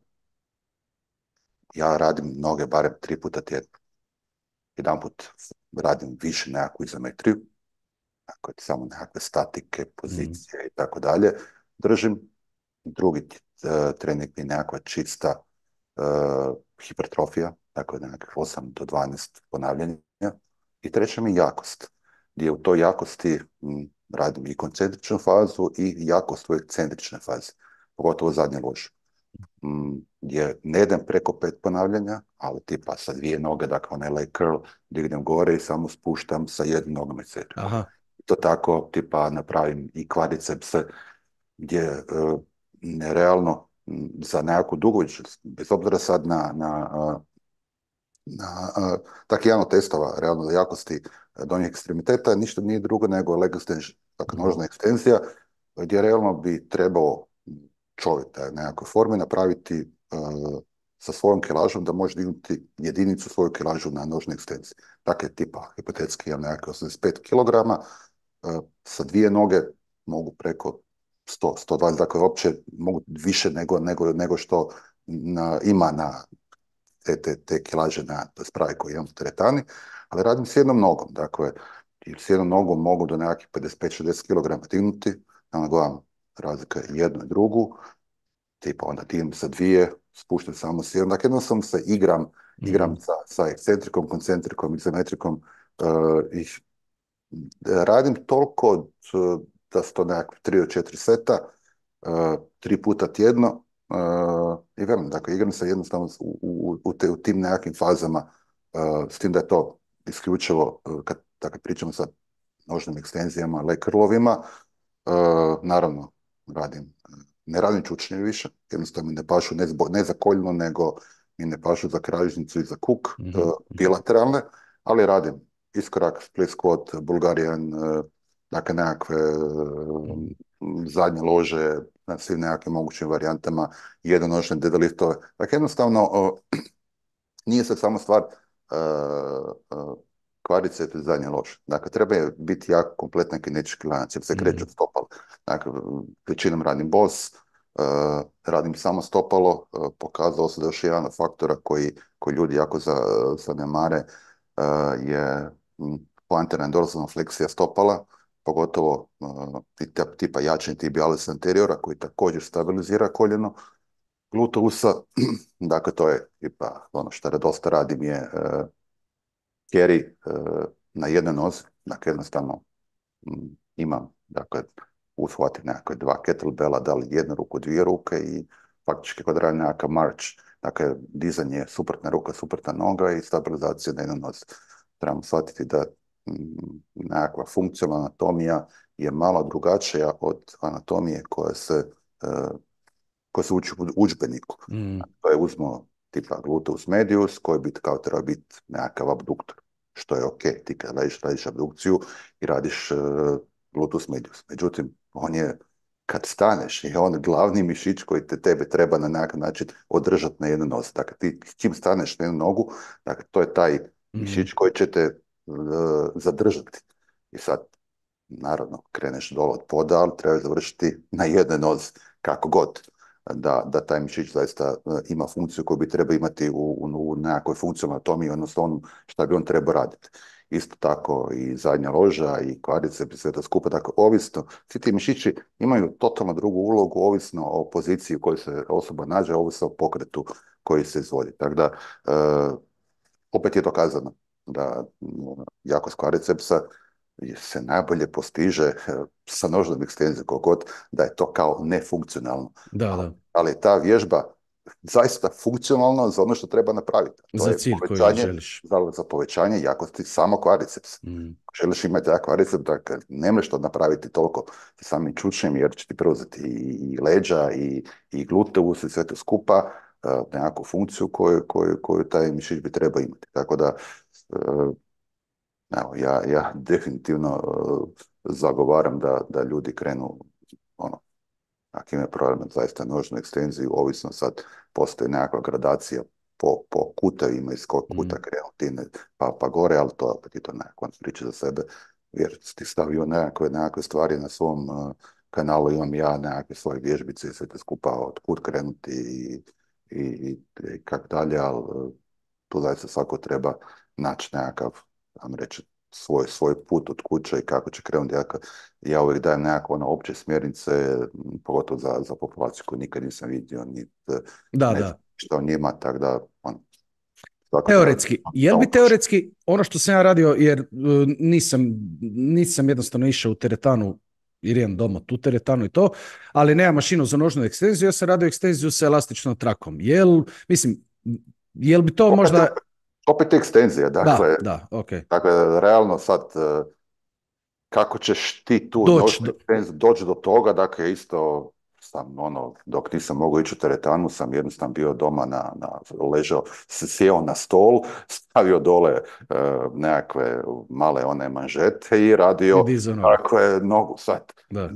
ja radim noge barem tri puta tjedno. Jedanput radim više nekakvu izometriju, dakle, samo nekakve statike, mm, pozicije i tako dalje. Držim. Drugi uh, trening mi je nekakva čista uh, hipertrofija, dakle nekakvih osam do dvanaest ponavljanja. I treća mi je jakost, gdje u toj jakosti m, radim i koncentričnu fazu i jakost u ekscentričnoj fazi, pogotovo zadnje lože. M, gdje ne idem preko pet ponavljanja, ali tipa sa dvije noge, dakle onaj leg curl, dignem gore i samo spuštam sa jednom nogom ekscentrikom. Aha. To tako, tipa, napravim i kvadricepse, gdje e, nerealno m, za nekakvu dugovičnost, bez obzira sad na, na, a, na a, tak jedan od testova realno jakosti donjih ekstremiteta, ništa nije drugo nego leg extension, dakle Mhm. nožna ekstenzija, gdje realno bi trebao čovjek da je u nekakvoj formi napraviti e, sa svojom kilažom da može dignuti jedinicu svoju kilažu na nožnoj ekstenziji. Dakle, tipa, hipotetski imam nekakve osamdeset pet kilograma, e, sa dvije noge mogu preko sto, sto dvadeset, dakle uopće mogu više nego, nego, nego što na, ima na te, te, te kilaže na spravi koji imam u teretani, ali radim s jednom nogom, dakle, i s jednom nogom mogu do nekakvih pedeset pet šezdeset kilograma dignuti, onda gledam razlika je jednu i drugu, tipa onda dignem sa dvije, spuštam samo s jednom, dakle jednostavno se igram, igram Mhm. sa, sa ekscentrikom, koncentrikom, izometrikom, uh, i radim toliko uh, da su to nekakve tri do četiri seta, uh, tri puta tjedno, uh, i velim, dakle, igram se jednostavno u, u, u, te, u tim nekakvim fazama, uh, s tim da je to isključivo, uh, kad, dakle, pričamo sa nožnim ekstenzijama, leg curlovima, uh, naravno, radim, ne radim čučnje više, jednostavno mi ne pašu ne, zbo, ne za koljno, nego mi ne pašu za kralježnicu i za kuk, uh, Mhm. Mhm. bilateralne, ali radim iskorak, split squat, Bulgarian, uh, dakle nekakve uh, Mhm. zadnje lože, na svim nekakvim mogućim varijantama, jednonožne deadliftove. Dakle, jednostavno, uh, nije sad samo stvar uh, uh, kvadriceps i zadnje lože. Dakle, treba je biti jako kompletan kinetički lanac, jer se kreće Mhm. od stopala. Dakle, većinom radim boss, uh, radim samo stopalo, uh, pokazalo se da još jedan od faktora koji, koji ljudi jako za, zanemare uh, je mm, plantarna dorsalna fleksija stopala, pogotovo uh, tipa jačanje tibialis anteriora koji također stabilizira koljeno, gluteusa, dakle to je tipa ono što dosta radim je uh, carry uh, na jednoj nozi, dakle jednostavno mm, imam, dakle, uhvati nekakve dva kettlebella, da li jednu ruku, dvije ruke i faktički kad radim nekakav march, dakle dizanje suprotna ruka, suprotna noga i stabilizacija na jednoj nozi. Trebamo shvatiti da mm, nekakva funkcionalna anatomija je malo drugačija od anatomije koja se uh, koje se uči u udžbeniku. Mhm. To je uzmo tipa gluteus medius, koji bi kao treba biti nekakav abduktor, što je ok, ti kad radiš, radiš abdukciju i radiš uh, gluteus medius. Međutim, on je, kad staneš, je on glavni mišić koji te tebe treba na nekakav način održati na jednu nozi. Dakle, ti čim staneš na jednu nogu, dakle, to je taj Mhm. mišić koji će te uh, zadržati. I sad, naravno, kreneš dole od poda, ali treba završiti na jednoj nozi, kako god da, da taj mišić zaista uh, ima funkciju koju bi trebao imati u, u, u nekakvoj funkcionalnoj anatomiji, odnosno ono šta bi on trebao raditi. Isto tako i zadnja loža i kvadriceps i sve to skupa, dakle ovisno, svi ti mišići imaju totalno drugu ulogu, ovisno o poziciji u kojoj se osoba nađe, ovisno o pokretu koji se izvodi. Tako da, uh, opet je dokazano da uh, jakost kvadricepsa se najbolje postiže uh, sa nožnom ekstenzijom, kogod da je to kao nefunkcionalno. Da, da. Ali je ta vježba zaista funkcionalna za ono što treba napraviti. To Za je cilj koji povećanje, želiš. za, za povećanje jakosti samo kvadricepsa. Mhm. Ako želiš imati jak kvadriceps, dakle, ne možeš to napraviti toliko sa samim čučnjem, jer će ti preuzeti i, i leđa i, i gluteus i sve to skupa, uh, nekakvu funkciju koju, koju, koju taj mišić bi trebao imati. Tako da, uh, evo, ja, ja definitivno uh, zagovaram da, da ljudi krenu ono, ako imaju problem zaista nožnu ekstenziju, ovisno sad postoji nekakva gradacija po, po kutevima iz kog kuta Mhm. krenuti, pa, pa gore, ali to opet je to nekakva priča za sebe, jer ti stavio nekakve, nekakve stvari na svom uh, kanalu, imam ja nekakve svoje vježbice i sve te skupa od kud krenuti i, i, i, i kak dalje, ali uh, tu zaista svako treba naći nekakav, vam reći, svoj, svoj put od kuće i kako će krenuti. Ja, ja uvijek dajem nekakve ono, opće smjernice, pogotovo za, za populaciju koju nikad nisam vidio, ni Da, ne znam da. što o njima, tako da on, Tako da, Teoretski, jel samo bi teoretski ono što sam ja radio, jer uh, nisam, nisam jednostavno išao u teretanu, jer imam doma tu teretanu i to, ali nema mašinu za nožnu ekstenziju, ja sam radio ekstenziju sa elastičnom trakom. Jel, mislim, jel bi to opet, možda... opet ekstenzija, Da, dakle, da, ok. dakle, realno sad, e, kako ćeš ti tu Doći nožnu do... ekstenziju doći do toga, dakle, isto sam, ono, dok nisam mogao ići u teretanu, sam jednostavno bio doma na, na ležao, s- sjeo na stol, stavio dole e, nekakve male one manžete i I radio, dizao nogu. dakle, nogu sad. Da.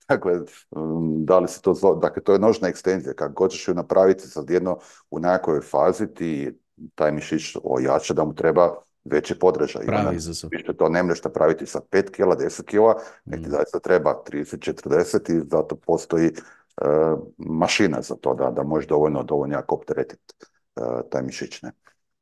Dakle, mm, da li se to zove, dakle, to je nožna ekstenzija, kako god ćeš ju napraviti sad jedno u nekakvoj fazi, ti taj mišić ojača da mu treba veći podražaj. I onda Pravi izazov. više to ne možeš napraviti sa pet kila, deset kila, nek ti Mm. zaista treba trideset, četrdeset i zato postoji e, mašina za to da, da možeš dovoljno, dovoljno jako opteretiti e, taj mišić. Ne?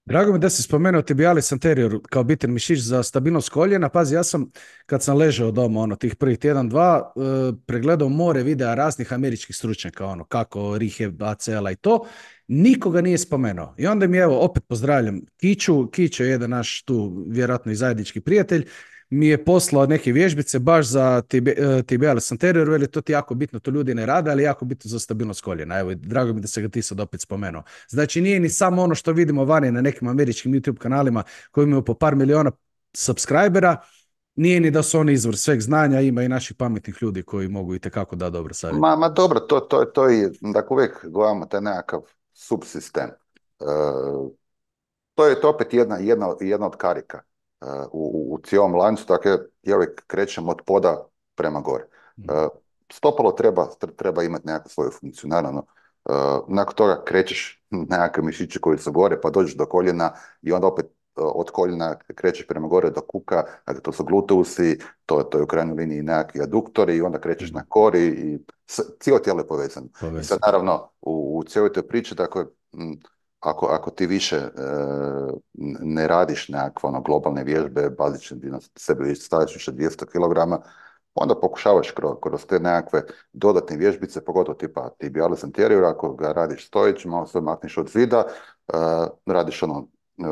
Drago mi da si spomenuo tibialis anterior kao bitan mišić za stabilnost koljena. Pazi, ja sam, kad sam ležao doma, ono, tih prvih tjedan, dva, e, pregledao more videa raznih američkih stručnjaka, ono, kako rehab, A C L-a i to. Nikoga nije spomenuo. I onda mi, evo, opet pozdravljam Kiću. Kiću je jedan naš tu, vjerojatno i zajednički prijatelj, mi je poslao neke vježbice baš za tibi, uh, tibialis anterior, veli, to ti jako bitno, to ljudi ne rade, ali jako bitno za stabilnost koljena. Evo, drago mi da se ga ti sad opet spomenuo. Znači, nije ni samo ono što vidimo vani na nekim američkim YouTube kanalima koji imaju po par miliona subscribera, nije ni da su oni izvor sveg znanja, ima i naših pametnih ljudi koji mogu itekako da dobro savjet. Ma, ma dobro, to, to, to je, dakle, uvijek gledamo taj nekakav subsistem. E, To je to opet jedna, jedna, jedna od karika uh, u, u cijelom lancu, dakle ja uvijek krećem od poda prema gore. Uh, stopalo treba, treba imati nekakvu svoju funkciju, naravno. Uh, nakon toga krećeš nekakve mišiće koji su gore, pa dođeš do koljena i onda opet uh, od koljena krećeš prema gore do kuka, dakle to su gluteusi, to, to je u krajnjoj liniji nekakvi aduktori i onda krećeš na kori i s, cijelo tijelo je povezano. I sad naravno u, u cijeloj toj priči, dakle, m, Ako, ako ti više e, ne radiš nekakve ono, globalne vježbe, bazične, di na sebe staviš više dvjesto kilograma, onda pokušavaš kroz, kroz te nekakve dodatne vježbice, pogotovo tipa tibialis anterior, ako ga radiš stojeći, malo se makneš od zida, e, radiš ono, e,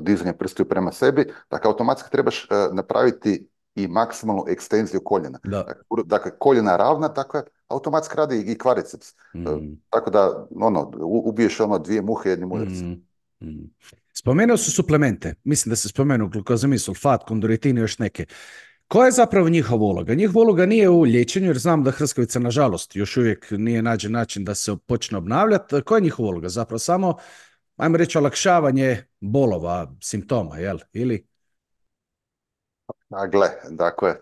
dizanje prstiju prema sebi, dakle automatski trebaš e, napraviti i maksimalnu ekstenziju koljena. Da. Dakle, koljena ravna, dakle, automatski radi i kvadriceps. Mm. Tako da, ono, ubiješ ono dvije muhe jednim udarcem. Mm. Mm. Spomenuo su suplemente. Mislim da se spomenuo glukozamid, sulfat, kondroitin i još neke. Koja je zapravo njihova uloga? Njihova uloga nije u liječenju, jer znam da hrskavica, nažalost, još uvijek nije nađen način da se počne obnavljati. Koja je njihova uloga? Zapravo samo, ajmo reći, olakšavanje bolova, simptoma, jel? Ili? A gle, dakle,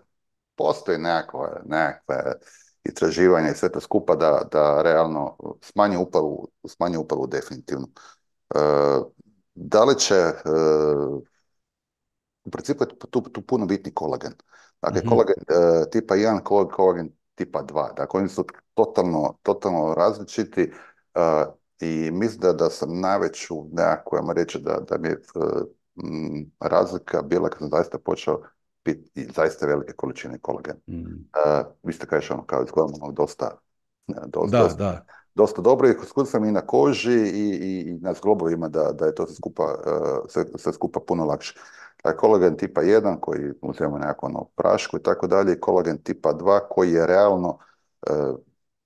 postoji nekakve, nekakve istraživanja i sve to skupa da, da realno smanji upalu, smanji upalu definitivno. E, da li će, e, u principu je tu, tu puno bitni kolagen. Dakle, Mm-hmm. kolagen e, tipa jedan, kolagen tipa dva. Dakle, oni su totalno, totalno različiti e, i mislim da, da sam najveću nekako, ajmo reći da, da mi je e, m, razlika bila kad sam zaista počeo piti zaista velike količine kolagena. Mm. Uh, vi ste kažeš ono kao izgledamo ono dosta, dosta, Da, dosta, da. dosta dobro i skup sam i na koži i, i, i na zglobovima da, da je to sve skupa, uh, sve, sve skupa puno lakše. Taj kolagen tipa jedan koji uzimamo nekako ono prašku i tako dalje i kolagen tipa dva koji je realno uh,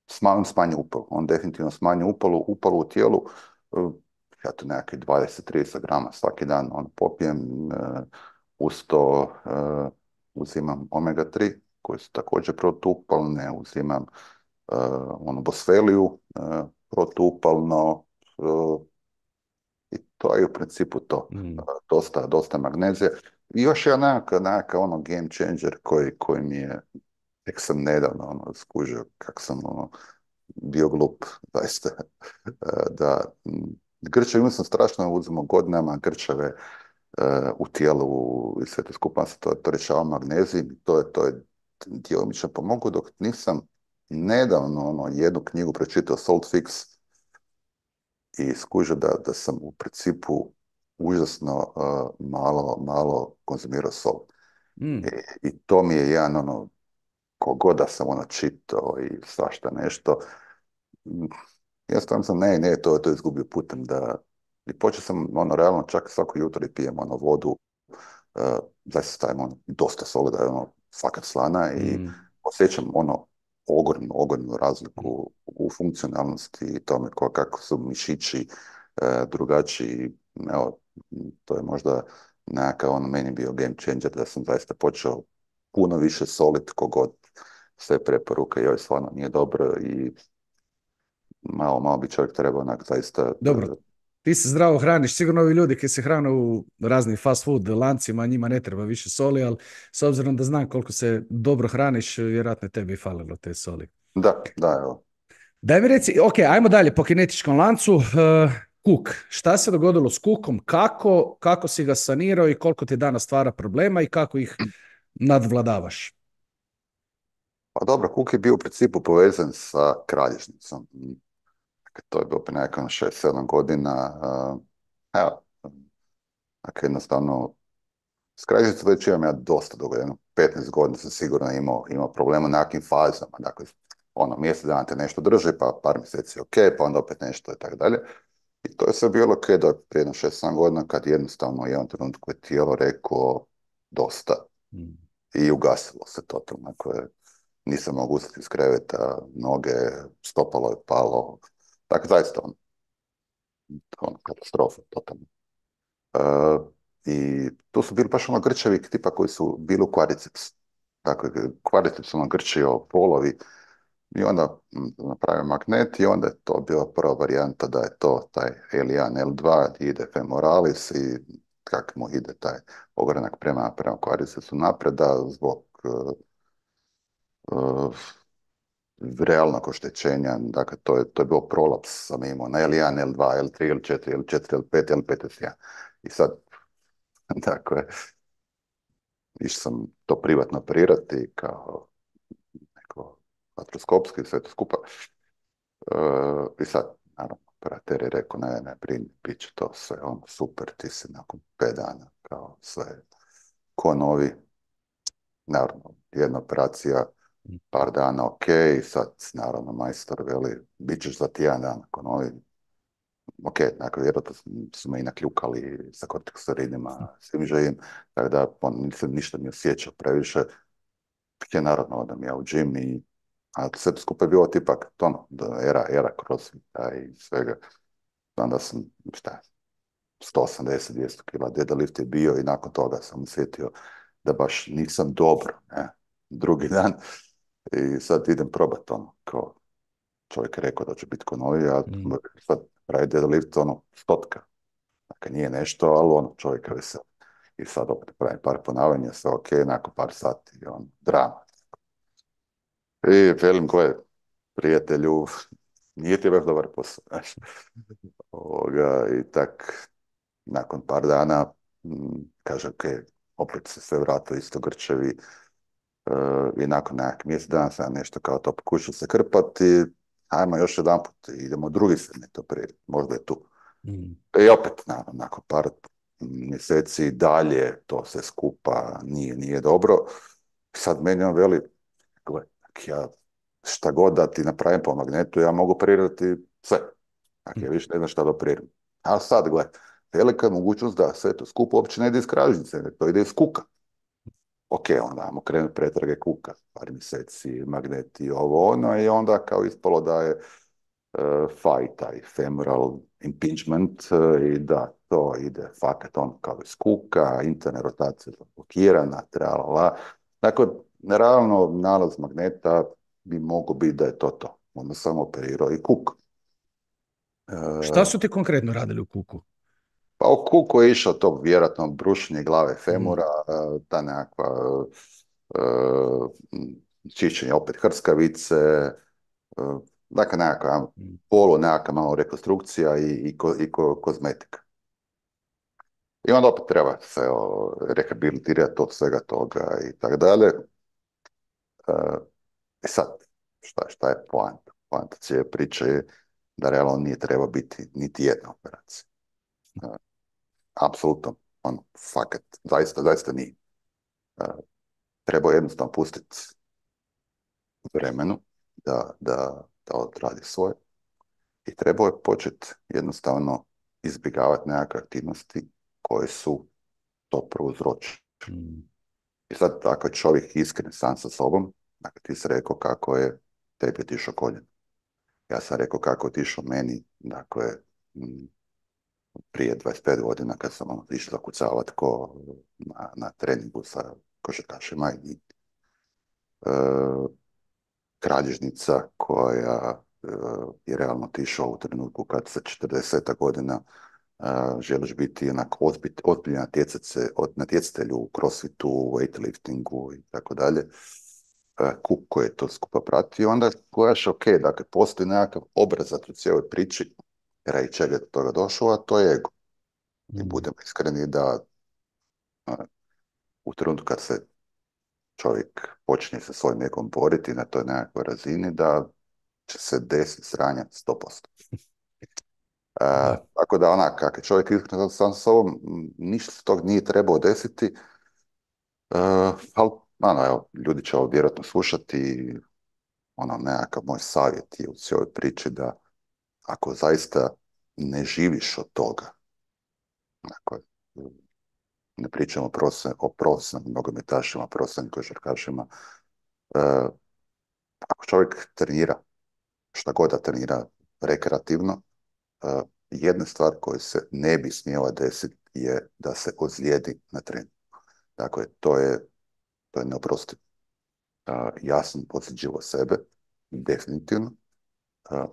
smanj, smanji upalu. On definitivno smanji upalu, upalu u tijelu. Uh, ja to nekakvih dvadeset do trideset grama svaki dan on popijem. Uh, uz to uh, uzimam omega tri koje su također protupalne, uzimam uh, onu bosfeliju uh, protupalno uh, i to je u principu to. Mm. Uh, dosta, dosta magnezije. I još je nekakav nekaka, ono game changer koji, koji mi je, tek sam nedavno ono, skužio kako sam ono, bio glup, zaista. uh, da grčeve, imao sam strašno, uzimao godinama grčeve uh, u tijelu i sve to skupa se to, to rješava magnezij, to je, to je djelomično pomoglo, dok nisam nedavno ono, jednu knjigu pročitao Salt Fix i skužio da, da sam u principu užasno uh, malo, malo konzumirao sol. Mm. I, I to mi je jedan ono, kogod da sam ono čitao i svašta nešto, ja stvarno sam, ne, ne, to, to izgubio putem da I počeo sam, ono, realno čak svako jutro i pijem, ono, vodu, uh, zaista stavim, ono, dosta soli, da je, ono, fakat slana i Mm. osjećam, ono, ogromnu, ogromnu razliku u funkcionalnosti i tome ko, kako su mišići uh, drugačiji. Evo, to je možda nekakav, ono, meni bio game changer da sam zaista počeo puno više solit kogod sve preporuke, joj, stvarno nije dobro i malo, malo bi čovjek trebao onak zaista. Dobro, ti se zdravo hraniš, sigurno ovi ljudi koji se hrane u raznim fast food lancima, njima ne treba više soli, ali s obzirom da znam koliko se dobro hraniš, vjerojatno je tebi falilo te soli. Da, da, evo. Daj mi reci, ok, ajmo dalje po kinetičkom lancu. Uh, Kuk, šta se dogodilo s kukom, kako, kako si ga sanirao i koliko ti danas stvara problema i kako ih nadvladavaš? Pa dobro, Cook je bio u principu povezan sa kralježnicom. Dakle, to je bilo prije nekako šest sedam godina. Uh, evo, dakle, jednostavno, s kralježnicom već imam ja dosta dugo, jedno petnaest godina sam sigurno imao, imao problema u nekakvim fazama. Dakle, ono, mjesec dana te nešto drži, pa par mjeseci ok, pa onda opet nešto i tako dalje. I to je sve bilo ok do prije jedno šest sedam godina kad jednostavno u jednom trenutku je tijelo reklo dosta Mm. i ugasilo se totalno. Dakle, nisam mogao ustati iz kreveta, noge, stopalo je palo. Dakle, zaista on, on katastrofa, totalno. Uh, I tu su bili baš ono grčevi tipa koji su bili u quadriceps. Dakle, quadriceps ono grčio polovi i onda mm, napravio magnet i onda je to bila prva varijanta da je to taj el jedan, el dva, ide femoralis i kak mu ide taj ogranak prema, prema quadricepsu napreda zbog uh, uh, realnog oštećenja, dakle to je, to je bio prolaps sam imao na el jedan, el dva, el tri, el četiri, el četiri, el pet, el pet, el jedan. I sad, dakle, išao sam to privatno operirati kao neko artroskopski sve to skupa. Uh, I sad, naravno, operater je rekao, ne, ne, brini, bit će to sve, ono, super, ti si nakon pet dana, kao sve, ko novi. Naravno, jedna operacija, par dana, ok, sad, naravno, majstor veli, bit ćeš za tjedan dana, ko novi. Ok, dakle, vjerojatno su me i nakljukali sa kortikosteroidima, svim živim, tako da on, nisam ništa ni osjećao previše. Je naravno, odam ja u džim i a sve to skupa je bilo tipak, ono, da era, era crossfita i svega. Onda sam, šta, sto osamdeset do dvjesto kila deadlift je bio i nakon toga sam osjetio da baš nisam dobro, ne, drugi dan. I sad idem probat, ono, kao čovjek je rekao da će biti ko novi, a Mm. sad pravi deadlift, ono, stotka. Dakle, nije nešto, ali ono, čovjek je vesel. I sad opet pravim par ponavljanja, sve ok, nakon par sati, on, drama. I velim, gle, prijatelju, nije ti baš dobar posao, znaš. Ovoga, i tak, nakon par dana, m, kaže, ok, opet se sve vratilo isto grčevi, e, i nakon nekak mjesec dana sam nešto kao to pokušao se krpati, ajmo još jedan put, idemo drugi segment operirati, možda je tu. Mm. I opet, naravno, nakon par mjeseci dalje, to sve skupa nije, nije dobro. Sad meni on veli, gle, ja šta god da ti napravim po magnetu, ja mogu operirati sve. Dakle, ja više ne znam šta da operiram. A sad, gle, velika je mogućnost da sve to skupo uopće ne ide iz kralježnice, nego to ide iz kuka. Ok, onda ajmo krenuti pretrage kuka, par mjeseci, magneti, ovo ono, i onda kao ispalo da je uh, faj, taj femoral impingement, uh, i da to ide fakat on kao iz kuka, interna rotacija blokirana, tralala. Dakle, naravno, nalaz magneta bi mogao biti da je to to. Onda sam operirao i kuk. Šta Uh, su ti konkretno radili u kuku? Pa u kuku je išao to vjerojatno brušenje glave Mm. femura, uh, ta nekakva uh, čišćenje opet hrskavice, uh, dakle nekakva Mm. polu, nekakva malo rekonstrukcija i, i, ko, i ko, kozmetika. I onda opet treba se o, rehabilitirati od svega toga i tako dalje. Uh, E sad, šta, šta je poanta? Poanta cijele priče je da realno nije treba biti niti jedna operacija. Uh, apsolutno, on, fakat, zaista, zaista nije. Uh, treba jednostavno pustiti vremenu da, da, da odradi svoje i treba je početi jednostavno izbjegavati nekakve aktivnosti koje su to prouzročile. Mm. I sad, ako je čovjek iskren sam sa sobom, dakle ti si rekao kako je tebi otišao koljen. Ja sam rekao kako je otišao meni, dakle, m, prije dvadeset pet godina kad sam ono, išao zakucavati ko na, na treningu sa košarkašima i e, kralježnica koja e, je realno otišao u trenutku kad sa četrdeset godina Uh, želiš biti onako ozbilj, ozbiljan natjecatelj, natjecatelj u crossfitu, weightliftingu i tako dalje, uh, kup koji je to skupa pratio, onda gledaš, ok, dakle, postoji nekakav obrazac u cijeloj priči, radi čega je do toga došlo, a to je ego. I Mm. budemo iskreni da uh, u trenutku kad se čovjek počne sa svojim egom boriti na toj nekakvoj razini, da će se desiti sranja sto posto. Uh, Da. tako da onak, kak je čovjek iskren sam s sobom, m, ništa se tog nije trebao desiti, uh, ali ono, evo, ljudi će ovo vjerojatno slušati i ono, nekakav moj savjet je u cijeloj priči da ako zaista ne živiš od toga, dakle, ne pričamo o profesion- o profesionalnim nogometašima, profesionalnim košarkašima, uh, ako čovjek trenira, šta god da trenira rekreativno, uh, jedna stvar koja se ne bi smjela desiti je da se ozlijedi na treningu. Dakle, to je, to je neoprostivo. Uh, ja sam posjeđivo sebe, definitivno, uh,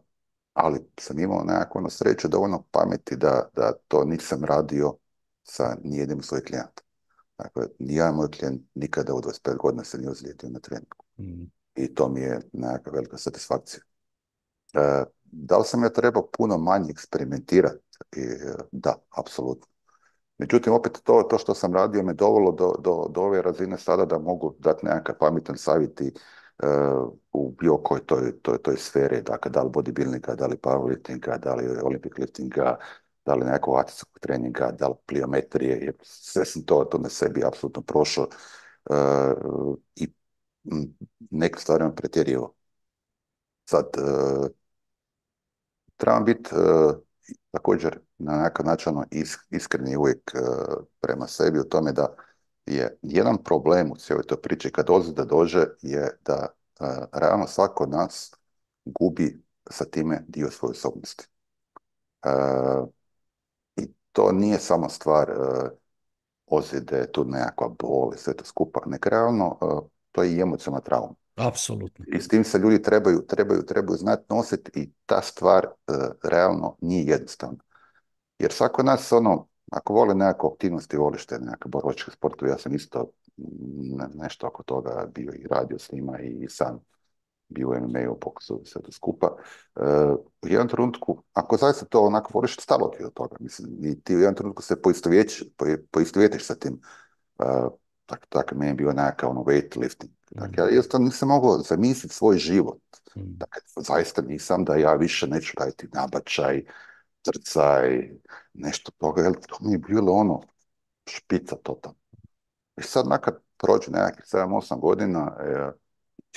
ali sam imao nekako na sreću dovoljno pameti da, da to nisam radio sa nijednim svojih klijenata. Dakle, nijedan moj klijent nikada u dvadeset pet godina se nije ozlijedio na treningu. Mm. I to mi je nekakva velika satisfakcija. Uh, da li sam ja trebao puno manje eksperimentirati? I, uh, da, apsolutno. Međutim, opet to, to što sam radio me dovelo do, do, do ove razine sada da mogu dati nekakav pametan savjet i, uh, u bilo kojoj toj, toj, toj sferi, dakle, da li bodybuildinga, da li powerliftinga, da li olympic liftinga, da li nekog akcijskog treninga, da li pliometrije, jer sve sam to, to na sebi apsolutno prošao uh, i m, neke stvari vam pretjerio. Sad, uh, trebam biti uh, također na nekakav način ono, is, iskreni uvijek uh, prema sebi u tome da je jedan problem u cijeloj toj priči kad ozljeda dođe je da uh, realno svako od nas gubi sa time dio svoje osobnosti. Uh, I to nije samo stvar uh, ozljede, tu nekakva bol i sve to skupa, nek realno uh, to je i emocionalna trauma. Apsolutno. I s tim se ljudi trebaju, trebaju, trebaju znati nositi i ta stvar uh, realno nije jednostavna. Jer svako od nas, ono, ako voli nekakve aktivnosti, voliš te nekakve borilačke sportove, ja sam isto ne, nešto oko toga bio i radio s njima i sam bio u M M A-u, pokusu sve to skupa. Uh, u jednom trenutku, ako zaista to onako voliš, stalo ti od toga. Mislim, i ti u jednom trenutku se poistovjetiš, poistovjetiš sa tim. Uh, tako, tako meni je bio nekakav ono weightlifting. Dakle, ja jednostavno nisam mogao zamisliti svoj život. Mm. Dakle, zaista nisam da ja više neću raditi nabačaj, trcaj, nešto toga, jer to mi je bilo ono špica totalno. I sad nakad prođe nekakvih sedam osam godina, e,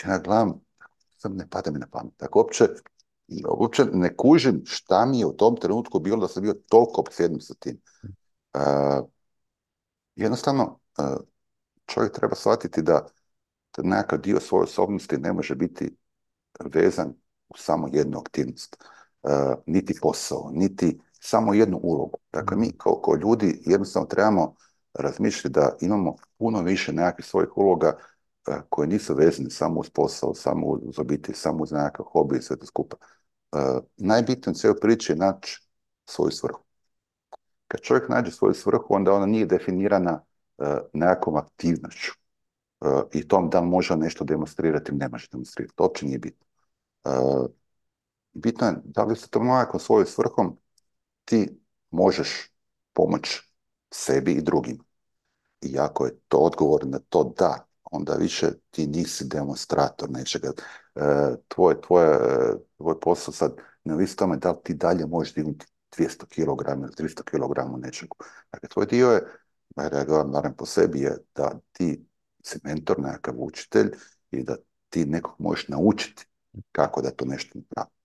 ja gledam, sad ne pada mi na pamet. Tako uopće, uopće ne kužim šta mi je u tom trenutku bilo da sam bio toliko opsjednut sa tim. E, jednostavno, e, čovjek treba shvatiti da, da nekakav dio svoje osobnosti ne može biti vezan u samo jednu aktivnost. Uh, niti posao, niti samo jednu ulogu. Dakle, mi kao, kao ljudi jednostavno trebamo razmišljati da imamo puno više nekakvih svojih uloga uh, koje nisu vezane samo uz posao, samo uz obitelj, samo uz nekakav hobi i sve to skupa. Uh, najbitnije u cijeloj priči je naći svoju svrhu. Kad čovjek nađe svoju svrhu, onda ona nije definirana uh, nekakvom aktivnošću uh, i tom da li može nešto demonstrirati ili ne može demonstrirati. To uopće nije bitno. Uh, bitno je da li se to nekakvom svojom svrhom ti možeš pomoći sebi i drugim. I ako je to odgovor na to da, onda više ti nisi demonstrator nečega. E, tvoj, tvoj, tvoj posao sad ne ovisi tome da li ti dalje možeš dignuti dvjesto kilograma ili tristo kilograma nečega. Dakle, tvoj dio je, ja gledam naravno po sebi, je da ti si mentor, nekakav učitelj i da ti nekog možeš naučiti kako da to nešto napravi.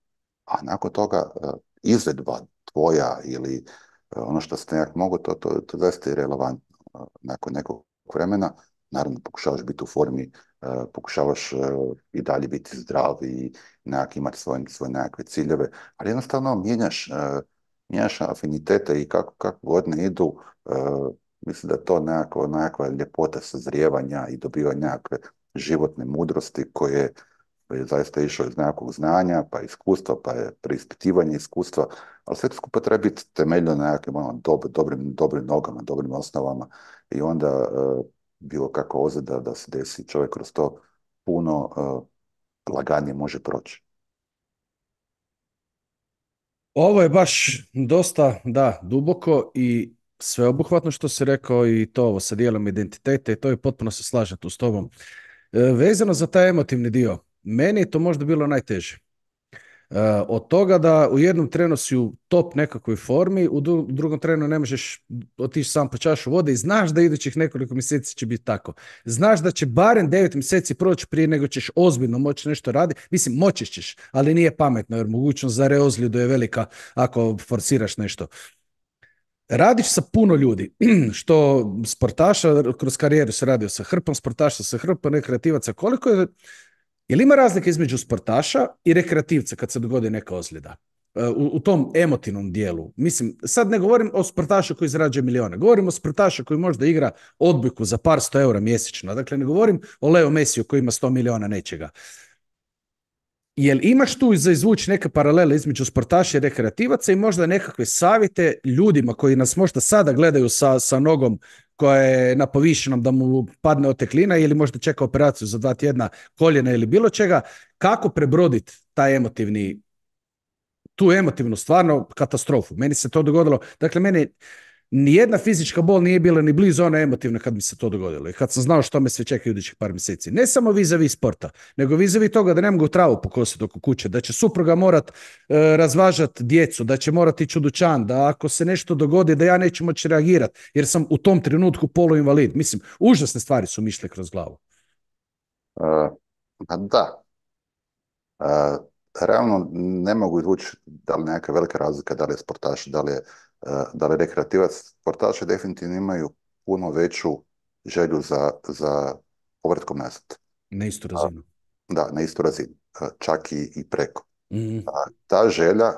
A nakon toga izvedba tvoja ili ono što ste nekak mogu, to, to, to zaista je relevantno. E, nakon nekog vremena, naravno pokušavaš biti u formi, e, pokušavaš e, i dalje biti zdrav i nekak imati svoje, svoje nekakve ciljeve, ali jednostavno mijenjaš, e, mijenjaš afinitete i kako, kako godine idu, e, mislim da je to nekako, nekakva ljepota sazrijevanja i dobivanja nekakve životne mudrosti koje je zaista išao iz nekakvog znanja, pa iskustva, pa je preispitivanje iskustva, ali sve to skupa treba biti temeljno na nekakvim ono, dob, dobrim, dobrim nogama, dobrim osnovama i onda e, bilo kako ozljeda da se desi, čovjek kroz to puno e, laganije može proći. Ovo je baš dosta, da, duboko i sveobuhvatno što si rekao i to ovo sa dijelom identiteta i to je potpuno se slažem tu s tobom. E, vezano za taj emotivni dio, meni je to možda bilo najteže. E, od toga da u jednom trenu si u top nekakvoj formi, u dru- drugom trenu ne možeš otići sam po čašu vode i znaš da idućih nekoliko mjeseci će biti tako. Znaš da će barem devet mjeseci proći prije nego ćeš ozbiljno moći nešto raditi. Mislim, moći ćeš, ali nije pametno jer mogućnost za reozljedu je velika ako forsiraš nešto. Radiš sa puno ljudi, što sportaša, kroz karijeru se radio sa hrpom sportaša, sa hrpom rekreativaca. Koliko je, je li ima razlika između sportaša i rekreativca kad se dogodi neka ozljeda? E, U, u tom emotivnom dijelu. Mislim, sad ne govorim o sportašu koji zarađuje milijone, govorim o sportašu koji možda igra odbojku za par sto eura mjesečno. Dakle, ne govorim o Leo Mesiju koji ima sto milijuna nečega. Jel imaš tu za izvući neke paralele između sportaša i rekreativaca i možda nekakve savjete ljudima koji nas možda sada gledaju sa, sa nogom koja je na povišenom da mu padne oteklina ili možda čeka operaciju za dva tjedna koljena ili bilo čega, kako prebroditi taj emotivni, tu emotivnu stvarno katastrofu. Meni se to dogodilo, dakle meni nijedna fizička bol nije bila ni blizu ona emotivna kad mi se to dogodilo i kad sam znao što me sve čeka idućih par mjeseci. Ne samo vis-a-vis sporta, nego vis-a-vis toga da ne mogu travu pokositi oko kuće, da će supruga morat e, razvažati djecu, da će morati ići u dućan, da ako se nešto dogodi da ja neću moći reagirati jer sam u tom trenutku poluinvalid. Mislim, užasne stvari su mi išle kroz glavu. E, pa da, e, realno ne mogu izvući da li neka velika razlika, da li je sportaš, da li je, e, da li je rekreativac. Sportaši definitivno imaju puno veću želju za, za povratkom nazad. Na istu A, razinu. da, na istu razinu, e, čak i, i preko. Mm, A, ta želja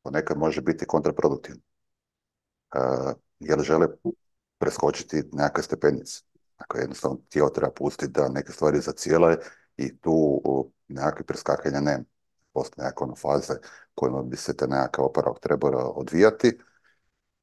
ponekad može biti kontraproduktivna, e, jer žele preskočiti nekakve stepenice. Dakle, jednostavno tijelo treba pustiti da neke stvari zacijele i tu o, nekakve preskakanja nema. Postoje nekakve ono faze kojima bi se te nekakav oporavak trebao odvijati.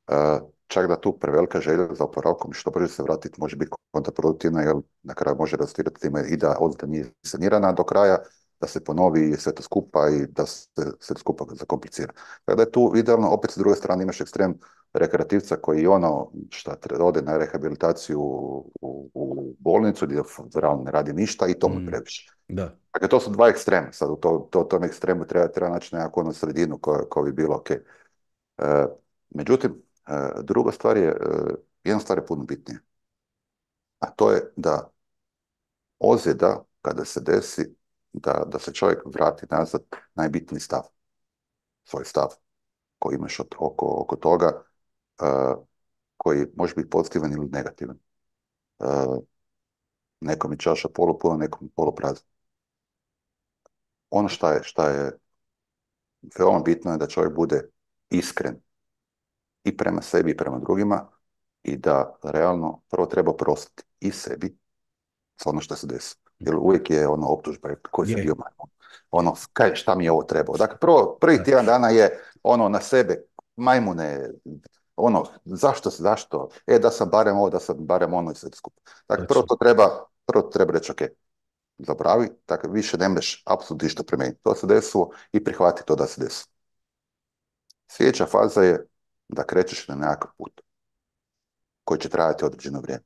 E, čak da tu prevelika želja za oporavkom što brže se vratiti može biti kontraproduktivna jer na kraju može rezultirati time i da ozljeda nije sanirana do kraja, da se ponovi sve to skupa i da se sve to skupa zakomplicira. Tako da je tu idealno, opet s druge strane imaš ekstrem rekreativca koji ono šta treba ode na rehabilitaciju u, u bolnicu gdje realno ne radi ništa i to mu je mm, previše. da. Dakle, to su dva ekstrema. Sad u to, to, tom ekstremu treba, treba naći nekakvu onu sredinu koja, koja bi bilo ok. E, međutim, e, druga stvar je, e, jedna stvar je puno bitnija. A to je da ozljeda, kada se desi, da, da se čovjek vrati nazad, najbitniji stav. Svoj stav koji imaš od, oko, oko toga, e, koji može biti pozitivan ili negativan. E, nekom je čaša polupuna, nekom je poluprazna. Ono šta je, šta je veoma bitno je da čovjek bude iskren i prema sebi i prema drugima i da realno prvo treba prostiti i sebi za ono što se desi. Jer uvijek je ono optužba koji se Je, bio majmun. Ono, kaj, šta mi je ovo trebalo? Dakle, prvo, prvi da, tjedan dana je ono na sebe, majmune, ono, zašto, zašto? E, da sam barem ovo, da sam barem ono i sve skupa. Dakle, prvo točno. to treba, prvo to treba reći, ok, zabravi, dakle, više ne mreš apsolutno ništa promijeniti. To se desilo i prihvati to da se desilo. Sljedeća faza je da krećeš na nekakav put koji će trajati određeno vrijeme.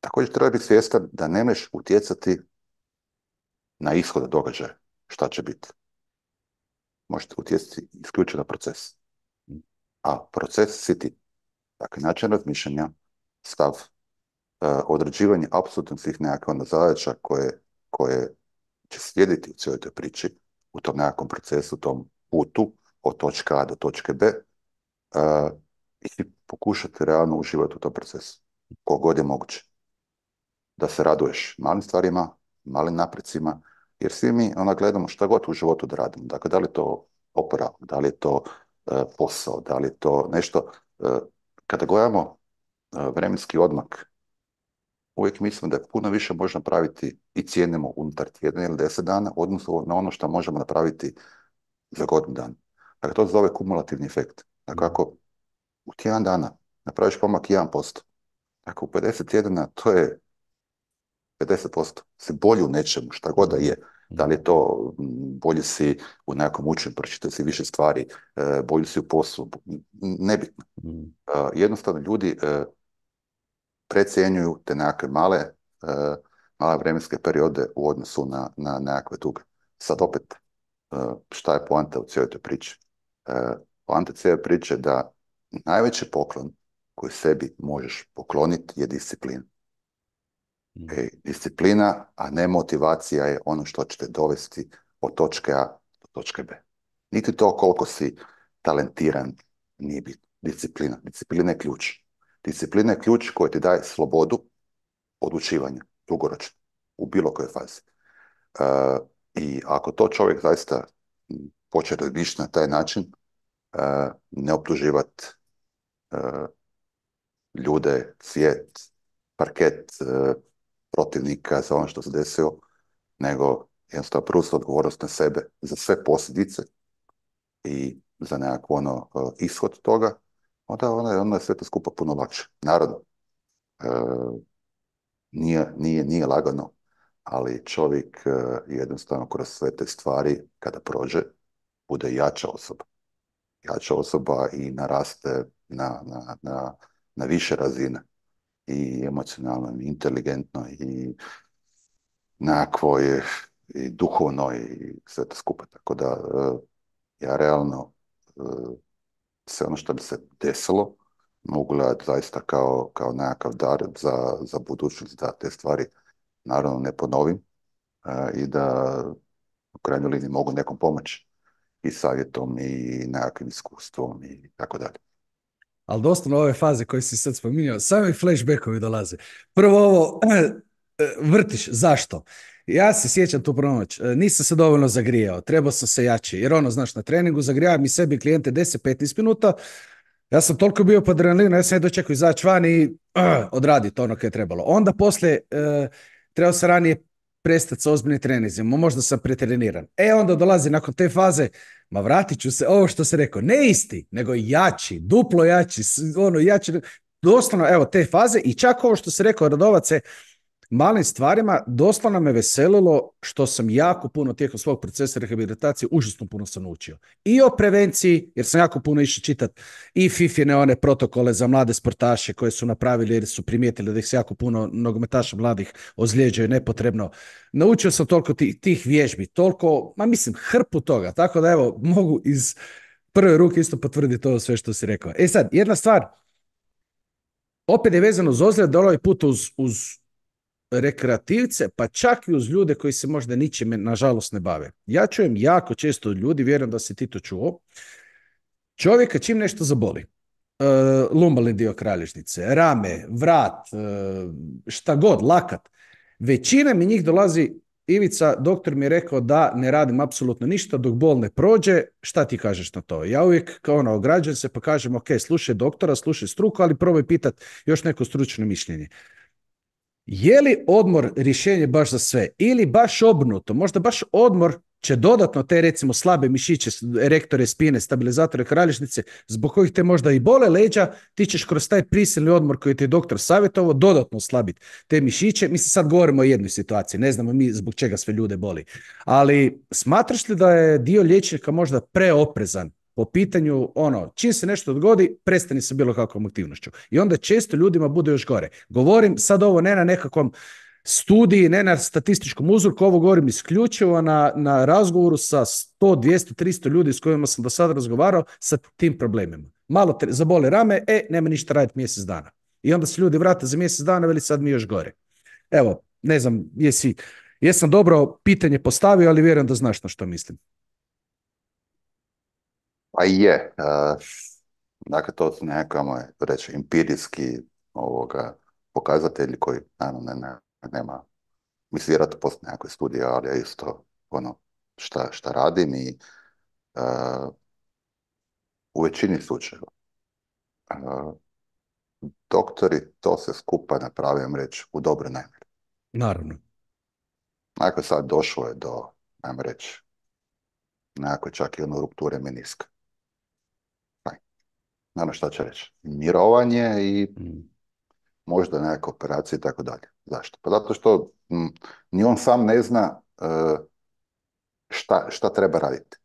Također treba biti svjestan da ne možeš utjecati na ishod događaja, šta će biti. Možete utjecati isključivo na proces. A proces si ti. Dakle, način razmišljanja, stav, uh, određivanje apsolutno svih nekakvih onda zadaća koje, koje će slijediti u cijeloj toj priči, u tom nekakvom procesu, u tom putu od točke A do točke B, uh, i pokušati realno uživati u tom procesu, koliko god je moguće. Da se raduješ malim stvarima, malim naprecima, jer svi mi ona gledamo šta god u životu da radimo. Dakle, da li je to oporavak, da li je to e, posao, da li je to nešto. E, kada gledamo e, vremenski odmak, uvijek mislim da je puno više može napraviti i cijenimo unutar tjedna ili deset dana, odnosno na ono što možemo napraviti za godinu dana. Dakle, to se zove kumulativni efekt. Dakle, ako u tjedan dana napraviš pomak jedan posto, dakle, u pedeset tjedana to je pedeset posto. Si bolji u nečemu, šta god da je. Da li je to, m, bolji si u nekakvom učenju, pročitao si više stvari, e, bolji si u poslu, b- nebitno. E, jednostavno ljudi e, precijenjuju te nekakve male, e, male vremenske periode u odnosu na, na nekakve duge. Sad opet, e, šta je poanta u cijeloj toj priči? E, poanta cijele priče je da najveći poklon koji sebi možeš pokloniti je disciplina. E, disciplina, a ne motivacija je ono što će te dovesti od točke A do točke B. Niti to koliko si talentiran nije bitno. Disciplina. Disciplina je ključ. Disciplina je ključ koji ti daje slobodu odlučivanja, dugoročno, u bilo kojoj fazi. E, I ako to čovjek zaista m, počne razmišljati na taj način, e, ne optuživati e, ljude, svijet, parket, e, protivnika za ono što se desilo, nego jednostavno preuzeti odgovornost na sebe za sve posljedice i za nekakvo ono e, ishod toga, onda, onda, onda je sve to skupa puno lakše. Naravno, e, nije, nije, nije lagano, ali čovjek e, jednostavno kroz sve te stvari, kada prođe, bude jača osoba. Jača osoba i naraste na, na, na, na više razine. I emocionalno, i inteligentno, i nekakvo je i duhovno i sve to skupa. Tako da e, ja realno e, sve ono što bi se desilo mogu gledati zaista kao, kao nekakav dar za, za budućnost, da te stvari naravno ne ponovim e, i da u krajnjoj liniji mogu nekom pomoći i savjetom i nekakvim iskustvom i tako dalje. Ali doslovno ove faze koje si sad spominjao, sami flashbackovi dolaze. Prvo ovo, vrtiš, zašto? Ja se sjećam tu prvu noć, nisam se dovoljno zagrijao, trebao sam se jači, jer ono, znaš, na treningu zagrijavam i sebi klijente deset do petnaest minuta, ja sam toliko bio pod adrenalinom, ja sam je dočekao izaći van i uh, odraditi ono koje je trebalo. Onda poslije, uh, trebao sam ranije prestati sa ozbiljnim treninzima, možda sam pretreniran. E, onda dolazi nakon te faze, ma vratit ću se, ovo što se rekao, ne isti, nego jači, duplo jači, ono, jači, doslovno, evo, te faze i čak ovo što se rekao, Radovac, malim stvarima, doslovno me veselilo što sam jako puno tijekom svog procesa rehabilitacije, užasno puno sam naučio. I o prevenciji, jer sam jako puno išao čitati i fifine one protokole za mlade sportaše koje su napravili jer su primijetili da ih se jako puno nogometaša mladih ozlijeđaju nepotrebno. Naučio sam toliko tih, tih vježbi, toliko, ma mislim, hrpu toga. Tako da evo, mogu iz prve ruke isto potvrditi to sve što si rekao. E sad, jedna stvar, opet je vezano uz ozljed, ovaj put uz, uz rekreativce, pa čak i uz ljude koji se možda ničime, nažalost, ne bave. Ja čujem jako često od ljudi, vjerujem da si ti to čuo, čovjeka čim nešto zaboli, uh, lumbalni dio kralježnice, rame, vrat, uh, šta god, lakat, većina mi njih dolazi, Ivica, doktor mi je rekao da ne radim apsolutno ništa dok bol ne prođe, šta ti kažeš na to? Ja uvijek kao ono, ograđujem se pa kažem, ok, slušaj doktora, slušaj struku, ali probaj pitat još neko stručno mišljenje. Je li odmor rješenje baš za sve ili baš obrnuto? Možda baš odmor će dodatno te recimo slabe mišiće, erektore, spine, stabilizatore kralježnice, zbog kojih te možda i bole leđa, ti ćeš kroz taj prisilni odmor koji ti je doktor savjetovao dodatno oslabiti te mišiće. Mi se sad govorimo o jednoj situaciji, ne znamo mi zbog čega sve ljude boli. Ali smatraš li da je dio liječnika možda preoprezan po pitanju, ono, čim se nešto dogodi, prestani sa bilo kakvom aktivnošću. I onda često ljudima bude još gore. Govorim sad ovo ne na nekakvom studiji, ne na statističkom uzorku, ovo govorim isključivo na, na razgovoru sa sto, dvjesto, tristo ljudi s kojima sam do sada razgovarao sa tim problemima. Malo te zabole rame, e, nema ništa raditi mjesec dana. I onda se ljudi vrate za mjesec dana, veli sad mi još gore. Evo, ne znam, jesi, jesam dobro pitanje postavio, ali vjerujem da znaš na što mislim. Pa je. Uh, Dakle, to su nekakve, ajmo reći, empirijski ovoga, pokazatelji koji, naravno, ne, ne, nema, mislim, vjerojatno postoje nekakve studije, ali ja isto, ono, šta, šta radim i uh, u većini slučajeva uh, doktori to se skupa napravim reći u dobro namjeri. Naravno. Dakle, sad došlo je do, ajmo reći, nekakve čak i ono rupture meniska. Aj, naravno šta će reći? Mirovanje i Mm. možda nekakve operacije i tako dalje. Zašto? Pa zato što m, ni on sam ne zna uh, šta, šta treba raditi.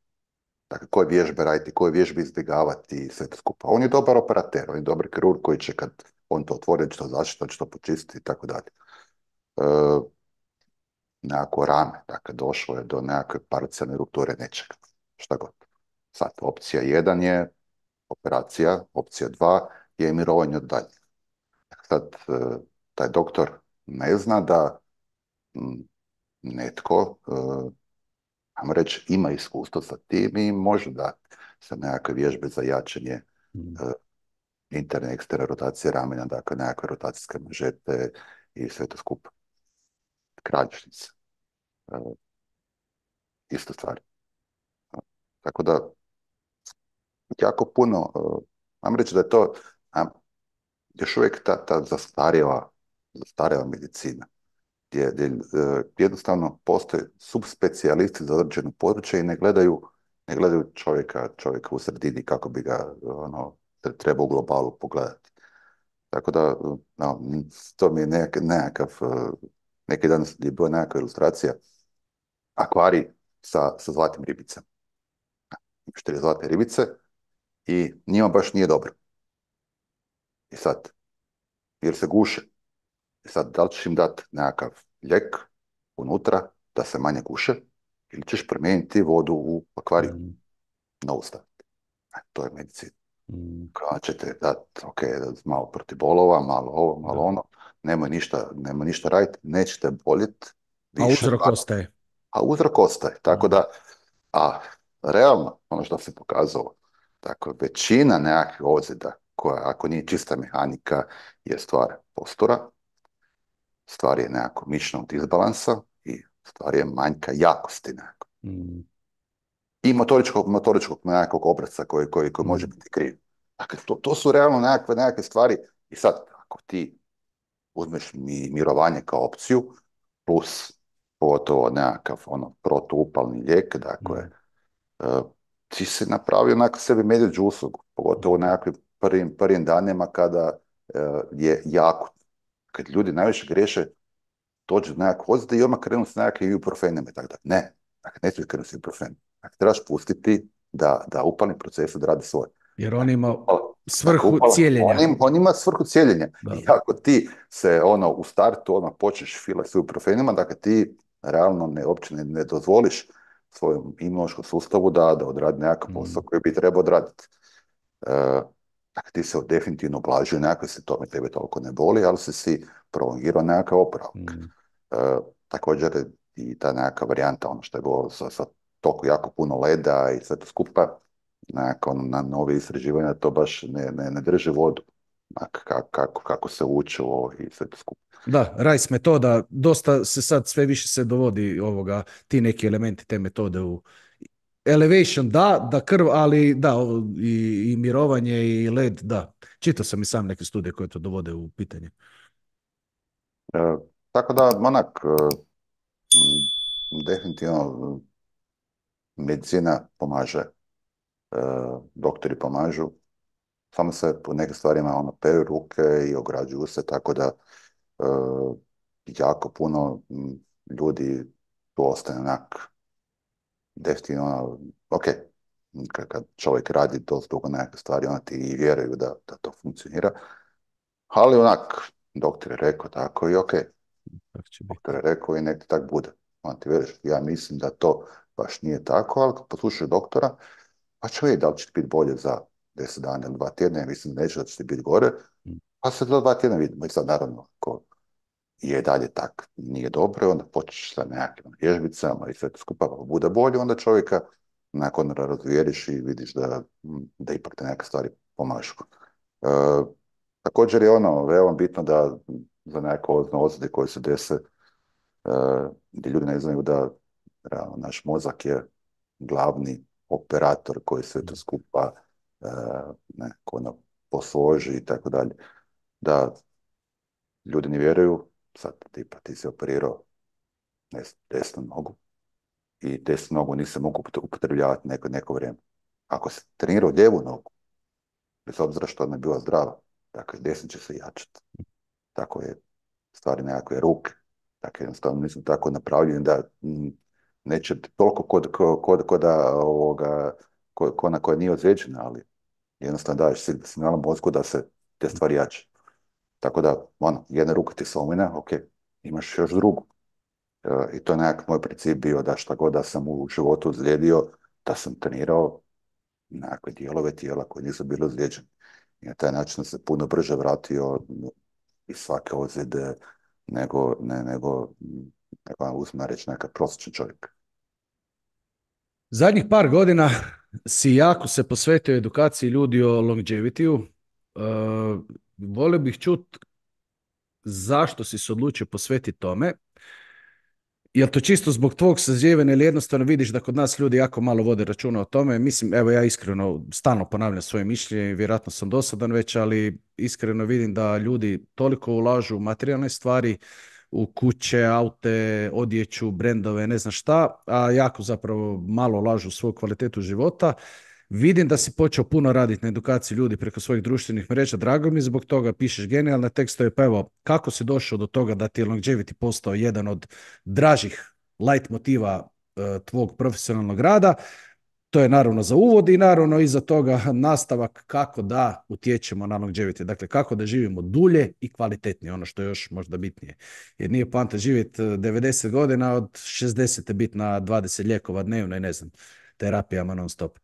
Dakle, koje vježbe raditi, koje vježbe izbjegavati i sve to skupa. On je dobar operater, on je dobar kirurg koji će kad on to otvori, će to zaštiti, će to počistiti i tako dalje. E, nekako rame, dakle, došlo je do nekakve parcijalne rupture nečega, šta god. Sad, opcija jedan je operacija, opcija dva je mirovanje od dalje. Sad, e, taj doktor ne zna da m, netko, e, ajmo reći, ima iskustvo sa tim i može dati sa nekakve vježbe za jačanje e, Mm. interne, eksterne rotacije ramena, dakle nekakve rotacijske mažete i sve to skupa. Kralježnice. E, isto stvar. E, tako da, jako puno, e, ajmo reći da je to a, još uvijek ta, ta zastarjela, zastarjela medicina, gdje, gdje, e, jednostavno postoje subspecijalisti za određeno područje i ne gledaju, ne gledaju čovjeka, čovjeka u sredini kako bi ga ono, treba u globalu pogledati. Tako da, no, to mi je nek, nekakav, e, neki dan je bila nekakva ilustracija, akvarij sa, sa zlatnim ribicama. Štiri zlatne ribice i njima baš nije dobro. I sad, jer se guše. I sad, da li ćeš im dati nekakav lijek unutra da se manje guše ili ćeš promijeniti vodu u akvariju Mm. na usta. E, to je medicina. Mm. Kada ćete dati, ok, malo protiv bolova, malo ovo, malo Da. ono, nemoj ništa, nemoj ništa raditi, nećete boljeti A više, uzrok ostaje. a uzrok ostaje. Tako Mm. da, a realno, ono što se pokazalo, dakle, većina nekakvih ozljeda, koja ako nije čista mehanika, je stvar postura, stvar je nekako mišićnog disbalansa i stvar je manjka jakosti nekako. Mm. I motoričkog, motoričkog nekakvog obraca koji, koji, koji može Mm. biti kriv. Dakle, to, to su realno nekakve, nekakve stvari. I sad, ako ti uzmeš mi, mirovanje kao opciju, plus pogotovo nekakav ono, protuupalni lijek, dakle, Mm. uh, ti si napravio onako sebi medvjeđu uslugu, pogotovo u nekakvim prvim, prvim danima kada uh, je jako. Kad ljudi najviše griješe, dođu do nekakve ozljede i odmah krenu s nekakvim ibuprofenima i tako da. Ne, dakle, ne smiješ krenuti s ibuprofenom. Dakle, trebaš pustiti da, da upalni proces odradi svoj. Jer on ima Dakle, svrhu upala, cijeljenja. on, im, on ima svrhu cijeljenja. Da. I ako ti se ono u startu odmah počneš filati s ibuprofenima, dakle ti realno ne, uopće ne, ne dozvoliš svojem imunološkom sustavu da, da odradi nekakav posao Mm. koji bi trebao odraditi. E, dakle, ti se definitivno ublažio nekakve simptome, tebe toliko ne boli, ali si si prolongirao nekakav oporavak. Mm. E, također i ta nekakva varijanta, ono što je bilo sa, sa toliko jako puno leda i sve to skupa, nekako na nove istraživanja to baš ne, ne, ne drži vodu. Kako, kako, kako se učilo i sve to skupa. Da, RICE metoda, dosta se sad sve više se dovodi ovoga, ti neki elementi te metode u elevation, da, da krv, ali da, ovo, i, i mirovanje i led, da. Čitao sam i sam neke studije koje to dovode u pitanje. E, tako da, onak, e, m, definitivno medicina pomaže, e, doktori pomažu, samo se po nekim stvarima ono, peru ruke i ograđuju se, tako da e, jako puno m, ljudi tu ostane onak definitivno, ono, ok, kad, kad čovjek radi dosta dugo nekakve stvari, onda ti i vjeruju da, da to funkcionira, ali onak, doktor je rekao tako i ok, Tako će biti. doktor je rekao i nek ti tak bude. Onda ti vjeruješ, ja mislim da to baš nije tako, ali kad poslušaš doktora, pa će vidjeti da li će ti biti bolje za deset dana ili dva tjedna, ja mislim da neće da će ti biti gore, Mm. pa se do dva tjedna vidimo. I sad naravno, ako je dalje tak, nije dobro, onda počneš sa nekakvim vježbicama i sve to skupa, pa bude bolje, onda čovjeka nakon razvijeriš i vidiš da, da ipak te neke stvari pomažu. E, također je ono veoma bitno da za neke ozbiljne ozljede koje se dese, e, gdje ljudi ne znaju da realno, naš mozak je glavni operator koji sve to skupa e, nekako ono, posloži i tako dalje. Da ljudi ne vjeruju, sad tipa ti si operirao ne znam, desnu nogu i desnu nogu nisi mogu upotrebljavati neko, neko vrijeme. Ako si trenirao lijevu nogu, bez obzira što ona je bila zdrava, dakle desna će se jačati. Tako je stvari nekakve ruke. Dakle, jednostavno nisu tako napravljeni da mm, neće toliko kod, kod, kod, kod da ovoga, ko, ko na koja nije ozlijeđena, ali jednostavno daješ signal mozgu da se te stvari jače. Tako da, ono, jedna ruka ti se omina, ok, imaš još drugu. E, I to je nekak moj princip bio da šta god da sam u životu ozlijedio, da sam trenirao nekakve dijelove tijela koji nisu bili ozlijeđeni. I na taj način sam se puno brže vratio iz svake ozljede nego, ne, nego, nego uzme reći neka prosječan čovjek. Zadnjih par godina si jako se posvetio edukaciji ljudi o longevity-u. Uh, volio bih čuti zašto si se odlučio posvetiti tome. Jel to čisto zbog tvog sazrijevanja ili jednostavno vidiš da kod nas ljudi jako malo vode računa o tome? Mislim, evo ja iskreno stalno ponavljam svoje mišljenje i vjerojatno sam dosadan već, ali iskreno vidim da ljudi toliko ulažu u materijalne stvari, u kuće, aute, odjeću, brendove, ne znam šta, a jako zapravo malo ulažu u svoju kvalitetu života. Vidim da si počeo puno raditi na edukaciji ljudi preko svojih društvenih mreža, drago mi zbog toga, pišeš genijalne tekstove, pa evo, kako si došao do toga da ti je longevity postao jedan od dražih light motiva e, tvog profesionalnog rada? To je naravno za uvod i naravno iza toga nastavak kako da utječemo na longevity, dakle kako da živimo dulje i kvalitetnije, ono što je još možda bitnije. Jer nije poanta živjeti devedeset godina, od šezdeset biti na dvadeset lijekova dnevno i ne znam, terapijama non stop.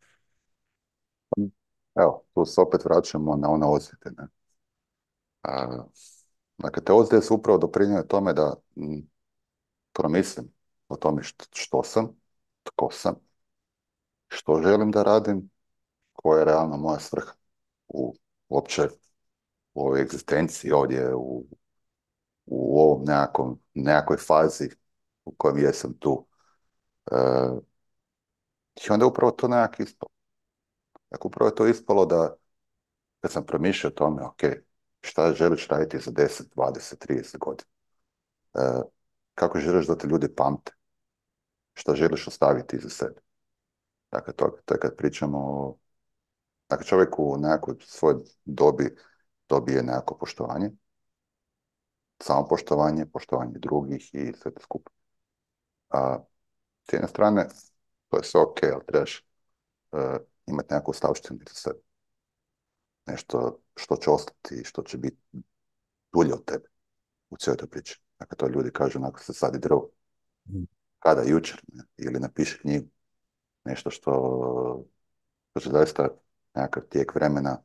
Evo, tu se opet vraćamo na one ozljede. Ne? A, dakle, te ozljede su upravo doprinijele tome da m, promislim o tome što, što sam, tko sam, što želim da radim, koja je realno moja svrha u uopće u ovoj egzistenciji ovdje u, u ovom nekakvom, nekakvoj fazi u kojem jesam tu. E, I onda je upravo to nekak ispalo. Dakle, upravo je to ispalo da kad sam promišljao o tome, ok, šta želiš raditi za deset, dvadeset, trideset godina? E, kako želiš da te ljudi pamte? Šta želiš ostaviti iza sebe? Dakle, to, to je kad pričamo o... Dakle, čovjek u nekakvoj svojoj dobi dobije nekako poštovanje, samopoštovanje, poštovanje drugih i sve to skupa. A s jedne strane, to je sve ok, ali trebaš uh, imati nekakvu stavštinu za sebe. Nešto što će ostati, što će biti dulje od tebe u cijeloj toj priči. Dakle, to ljudi kažu, onako se sadi drvo. Kada? Jučer. Ne? Ili napiše knjigu. Nešto što, što će zaista nekakav tijek vremena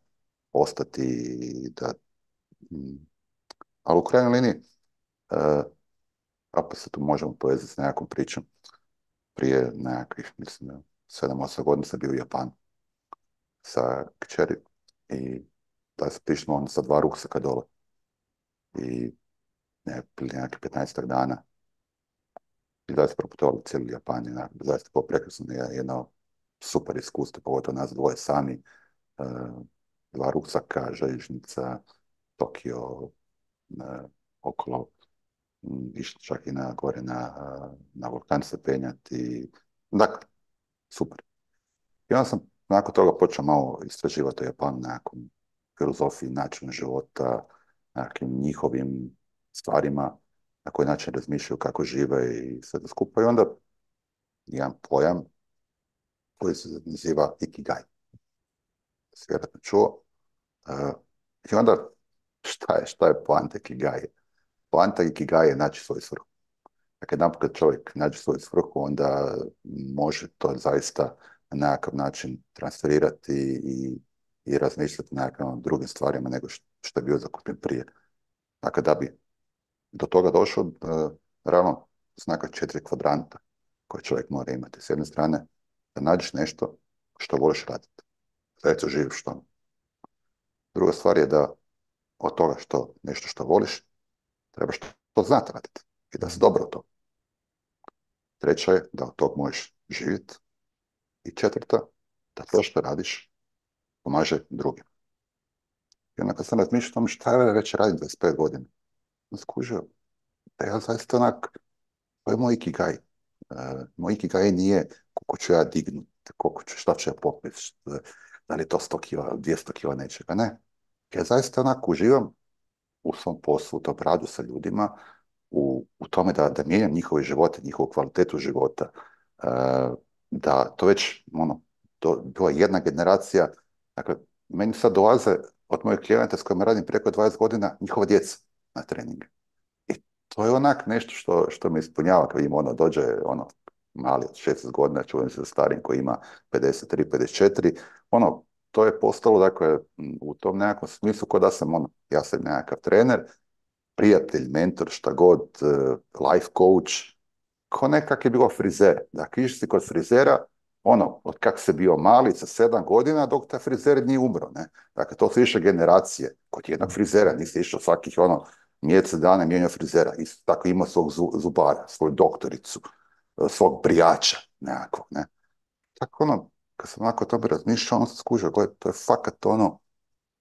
ostati i da... Mm, ali u krajnjoj liniji, uh, pa se tu možemo povezati s nekakvom pričom. Prije nekakvih, mislim, sedam osam godina sam bio u Japanu sa kćeri i da se pišemo on sa dva ruksaka dole. I ne, prije nekakvih petnaestak dana i da se proputovali cijeli Japan i nekako, zaista bilo prekrasno, jedno super iskustvo, pogotovo nas dvoje sami, uh, dva ruksaka, željeznica, Tokio, uh, okolo, um, išli čak i na, gore na, uh, na vulkan se penjati. Dakle, super. I onda sam nakon toga počeo malo istraživati o Japanu, nekakvom filozofiji, načinu života, nekakvim njihovim stvarima, na koji način razmišljaju, kako žive i sve to skupa. I onda jedan pojam koji se naziva Ikigai. Si vjerojatno čuo. Uh, I onda šta je, šta je poanta Ikigai? Poanta Ikigai je naći svoju svrhu. Dakle, jedan kad čovjek nađe svoju svrhu, onda može to zaista na nekakav način transferirati i, i razmišljati na nekakvim drugim stvarima nego što, što je bio zakupljen prije. Dakle, da bi do toga došao, uh, realno su nekakve četiri kvadranta koje čovjek mora imati. S jedne strane, da nađeš nešto što voliš raditi. Zaista živiš što. Druga stvar je da od toga što nešto što voliš, trebaš to znati raditi i da si dobro u to. Treća je da od tog možeš živjeti. I četvrta, da to što radiš pomaže drugim. I onda kad sam razmišljao o tome šta ja već radim dvadeset pet godina, sam skužio da ja zaista onak, to je moj ikigai. Uh, moj ikigai nije koliko ću ja dignut, koliko ću, šta ću ja popiti, da li je to sto kila, dvjesto kila nečega, ne. Ja zaista onak uživam u svom poslu, u tom radu sa ljudima, u, u tome da, da mijenjam njihove živote, njihovu kvalitetu života, uh, da to već, ono, to bila jedna generacija, dakle, meni sad dolaze od mojih klijenata s kojima radim preko dvadeset godina, njihova djeca na treninge. I to je onak nešto što, što me ispunjava kad im ono dođe, ono, mali od šesnaest godina, čujem se za starim koji ima pedeset tri pedeset četiri, ono, to je postalo, dakle, u tom nekakvom smislu kao da sam, ono, ja sam nekakav trener, prijatelj, mentor, šta god, life coach, ko nekak je bilo frizer. Dakle, išli si kod frizera, ono, od kak se bio mali sa sedam godina, dok ta frizer nije umro, ne. Dakle, to su više generacije. Kod jednog frizera nisi išao svakih, ono, mjesec dana mijenjao frizera. Isto tako ima svog zubara, svoju doktoricu, svog brijača, nekako, ne. Tako, ono, kad sam onako o tome razmišljao, ono sam skužio, gledaj, to je fakat ono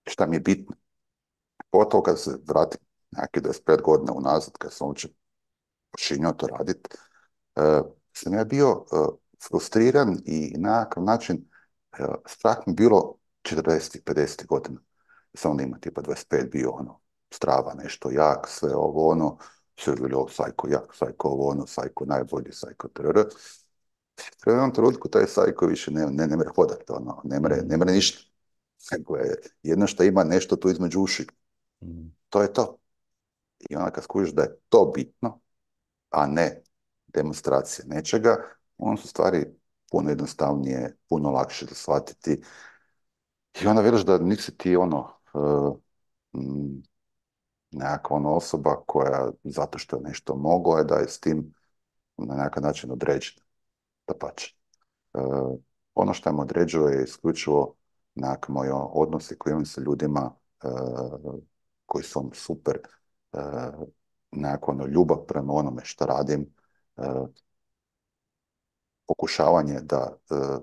šta mi je bitno. Pogotovo kad se vratim nekakve dvadeset pet godina unazad, kad sam uopće počinio to raditi, uh, sam ja bio uh, frustriran i na nekakav način uh, strah mi bilo četrdeset pedeset godina. Sam onda ima tipa dvadeset pet bio ono, strava, nešto jak, sve ovo ono, sve je bilo sajko jak, sajko ovo ono, sajko najbolji, sajko trr. U jednom trenutku taj sajko više ne, ne, ne mere hodati, ono, ne mere, ne mere ništa. Nego je jedno što ima nešto tu između uši. Mm. To je to. I onda kad skužiš da je to bitno, a ne demonstracija nečega, onda su stvari puno jednostavnije, puno lakše da shvatiti. I onda vidiš da nisi ti ono uh, mm, nekakva ono osoba koja zato što je nešto mogla je da je s tim na nekakav način određena. Da pače. Uh, ono što me određuje je isključivo nekakve moje odnose koje imam sa ljudima uh, koji su on super, uh, nekakva ono ljubav prema onome što radim, uh, pokušavanje da uh,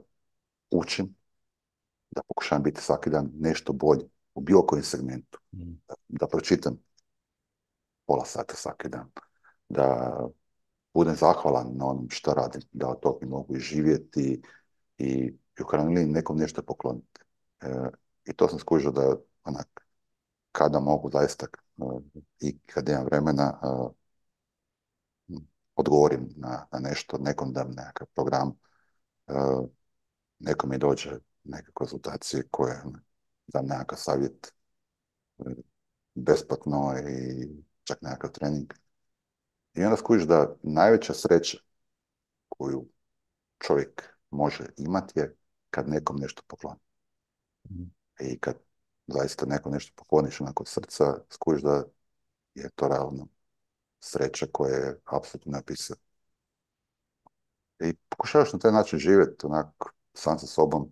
učim, da pokušavam biti svaki dan nešto bolji u bilo kojem segmentu, mm. da, da pročitam pola sata svaki dan, da budem zahvalan na onom što radim, da od toga mogu i živjeti i u krajnjoj liniji nekom nešto pokloniti. E, I to sam skužio da onak, kada mogu zaista uh, i kada imam vremena uh, odgovorim na, na nešto, nekom dam nekakav program, uh, nekom mi dođe neke konzultacije koje dam nekakav savjet uh, besplatno i čak nekakav trening. I onda skužiš da najveća sreća koju čovjek može imati je kad nekom nešto pokloni. Mm. I kad zaista nekom nešto pokloniš onako od srca, skužiš da je to realno sreća koja je apsolutno napisana. I pokušavaš na taj način živjeti onako sam sa sobom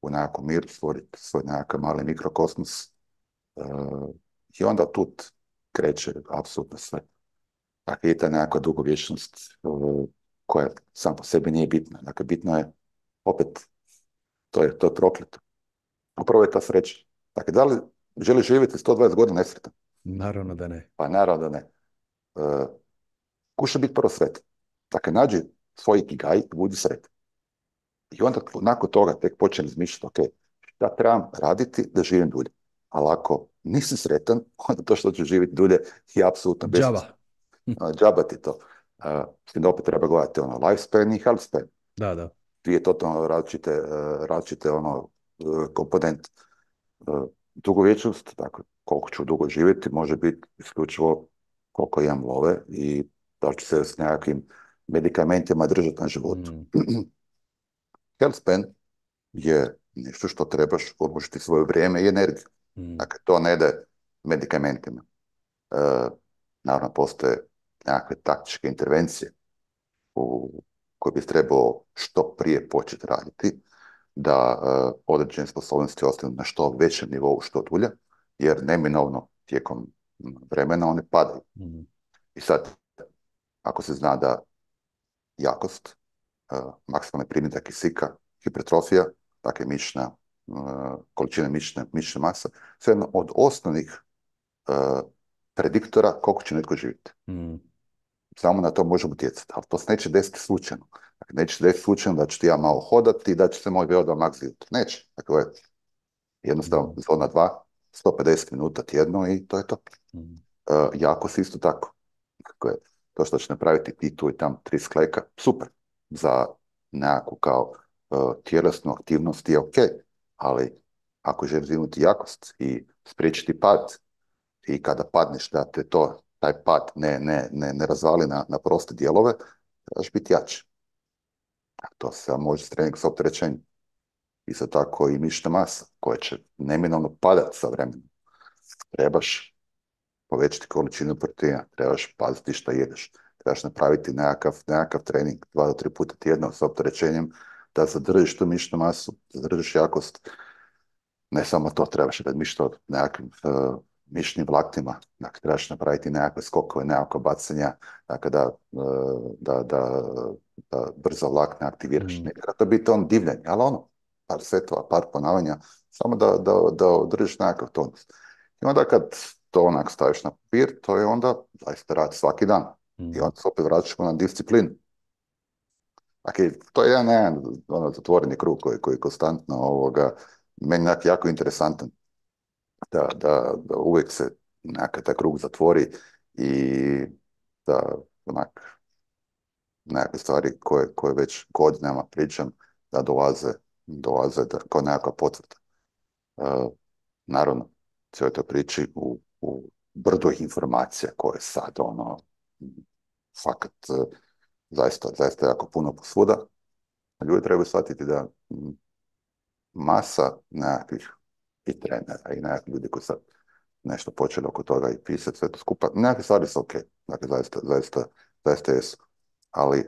u nekakvom miru, stvoriti svoj nekakav mali mikrokosmos uh, i onda tu kreće apsolutno sve. Dakle, je ta nekakva dugovječnost uh, koja sam po sebi nije bitna. Dakle, bitno je, opet, to je, to je prokleto. Upravo je ta sreća. Dakle, da li želiš živjeti sto dvadeset godina nesretan? Naravno da ne. Pa naravno da ne. Uh, kuša biti prvo sretan. Dakle, nađi svoj ikigai i budi sretan. I onda nakon toga tek počnem razmišljati, ok, šta trebam raditi da živim dulje. Ali ako nisi sretan, onda to što ću živjeti dulje je apsolutno besmisleno. Džaba ti to. Uh, s tim da opet treba gledati ono lifespan i healthspan. Da, da. Dvije totalno različite, uh, različite ono, uh, komponente. Uh, dugovječnost, dakle, koliko ću dugo živjeti, može biti isključivo koliko imam love i da ću se s nekakvim medikamentima držati na životu. Mm. Healthspan je nešto što trebaš uložiti svoje vrijeme i energiju. Mm. Dakle, to ne ide medikamentima. Uh, naravno, postoje nekakve taktičke intervencije u koje bi trebao što prije početi raditi, da uh, određene sposobnosti ostanu na što većem nivou, što dulje. jer neminovno tijekom vremena one padaju. Mhm. I sad, ako se zna da jakost, uh, maksimalni primitak kisika, hipertrofija, dakle mišićna, uh, količina mišićne, mišićne mase, sve jedno od osnovnih uh, prediktora koliko će netko živjeti. Mhm. Samo na to možemo utjecati, ali to se neće desiti slučajno. Dakle, neće se desiti slučajno da ću ti ja malo hodati i da će se moj VO2 max vidjeti. Neće. Dakle, jednostavno, Mhm. zona dva, sto pedeset minuta tjedno i to je to. Mhm. Uh, jako se isto tako. Dakle, to što će napraviti ti tu i tam tri skleka, super. Za nekakvu kao uh, tjelesnu aktivnost je ok, ali ako želiš imati jakost i spriječiti pad i kada padneš da te to, taj pad ne, ne, ne, ne razvali na, na proste dijelove, trebaš biti jači. A to se može s trening sa opterećenjem. Isto tako i mišićna masa koja će neminovno padati sa vremenom. Trebaš povećati količinu proteina, trebaš paziti što jedeš, trebaš napraviti nekakav, nekakav trening dva do tri puta tjedno sa opterećenjem da zadržiš tu mišićnu masu, zadržiš jakost. Ne samo to, trebaš razmišljati o nekakvim uh, mišićnim vlaknima, dakle, trebaš napraviti nekakve skokove, nekakve bacanja, dakle, da, uh, da, da, da brzo vlakne aktiviraš. Mhm. Ne treba to biti on divljanje, ali ono, par setova, par ponavljanja, samo da, da, da održiš nekakav tonus. I onda kad to onak staviš na papir, to je onda zaista rad svaki dan. I Mhm. onda se opet vraćamo na disciplinu. Dakle, to je jedan, jedan ono, zatvoreni krug koji, koji konstantno ovoga, meni je jako interesantan da, da, da uvijek se nekakav taj krug zatvori i da onak nekakve stvari koje, koje već godinama pričam da dolaze, dolaze da, kao nekakva potvrda. Uh, naravno, cijeloj toj priči u, u brdo informacija koje sad ono fakat uh, zaista, zaista jako puno posvuda. Ljudi trebaju shvatiti da mm, masa nekakvih i trenera i nekakvih ljudi koji sad nešto počeli oko toga i pisati sve to skupa. Nekakve stvari su ok, dakle zaista, zaista, zaista jesu. Ali e,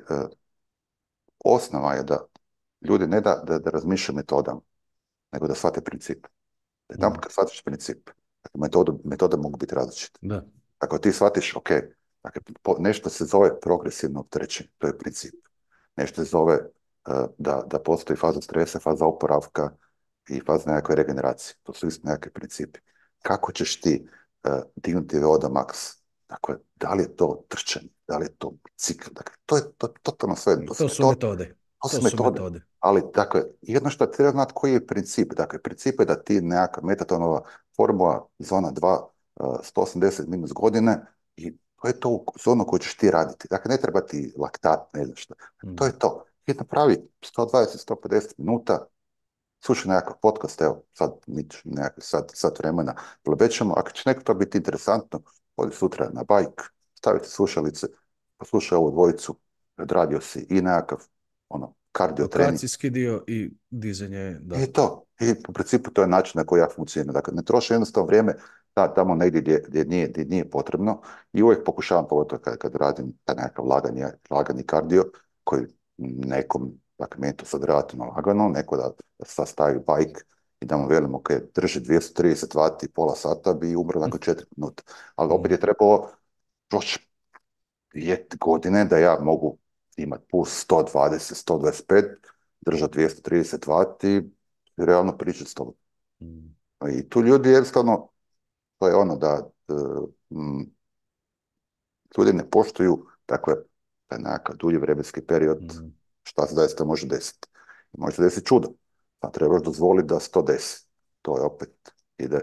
osnova je da ljudi ne da, da, da razmišljaju metodama, nego da shvate princip. Da jedan Mhm. kad shvatiš princip, dakle, metodu, metode mogu biti različite. Da. Ako ti shvatiš, ok, dakle, po, nešto se zove progresivno opterećenje, to je princip. Nešto se zove uh, da, da postoji faza stresa, faza oporavka i faza nekakve regeneracije. To su isto nekakvi principi. Kako ćeš ti uh, dignuti V O dva max? Dakle, da li je to trčanje, da li je to bicikl? Dakle, to je to, totalno sve. To su To su metode. metode. To To su su metode. metode. Ali, dakle, jedno što treba znati koji je princip. Dakle, princip je da ti nekakva metatonova formula, zona dva, uh, sto osamdeset minus godine i to je to zonu koju ćeš ti raditi. Dakle, ne treba ti laktat, ne znam što. To Mhm. je to. Ti napravi sto dvadeset do sto pedeset minuta, slušaj nekakav podcast, evo, sad, nekakvi sat, sat vremena, plebećemo. Ako će neko to biti interesantno, odi sutra na bajk, stavite slušalice, poslušaj ovu dvojicu, odradio si i nekakav, ono, kardio trening. Lokacijski dio i dizanje, da. I to. I u principu to je način na koji ja funkcioniram. Dakle, ne troši jednostavno vrijeme ta, tamo negdje gdje, gdje, nije, gdje nije potrebno i uvijek pokušavam, pogotovo kad, kad radim taj nekakav laganje, lagani kardio, koji nekom, dakle, meni je to sad relativno lagano, neko da, da sad stavi bajk i da mu velim, ok, drži dvjesto trideset vati, pola sata, bi umro nakon četiri minuta. Ali opet Mhm. je trebalo proći dvije godine da ja mogu imati puls sto dvadeset, sto dvadeset pet, držati dvjesto trideset vati i realno pričati s tobom. Mhm. I tu ljudi jednostavno, to je ono da e, m, ljudi ne poštuju, dakle, taj nekakav dulji vremenski period, Mhm. šta se zaista može desiti. Može se desiti čudo, pa trebaš dozvoliti da se to desi. To je opet ide,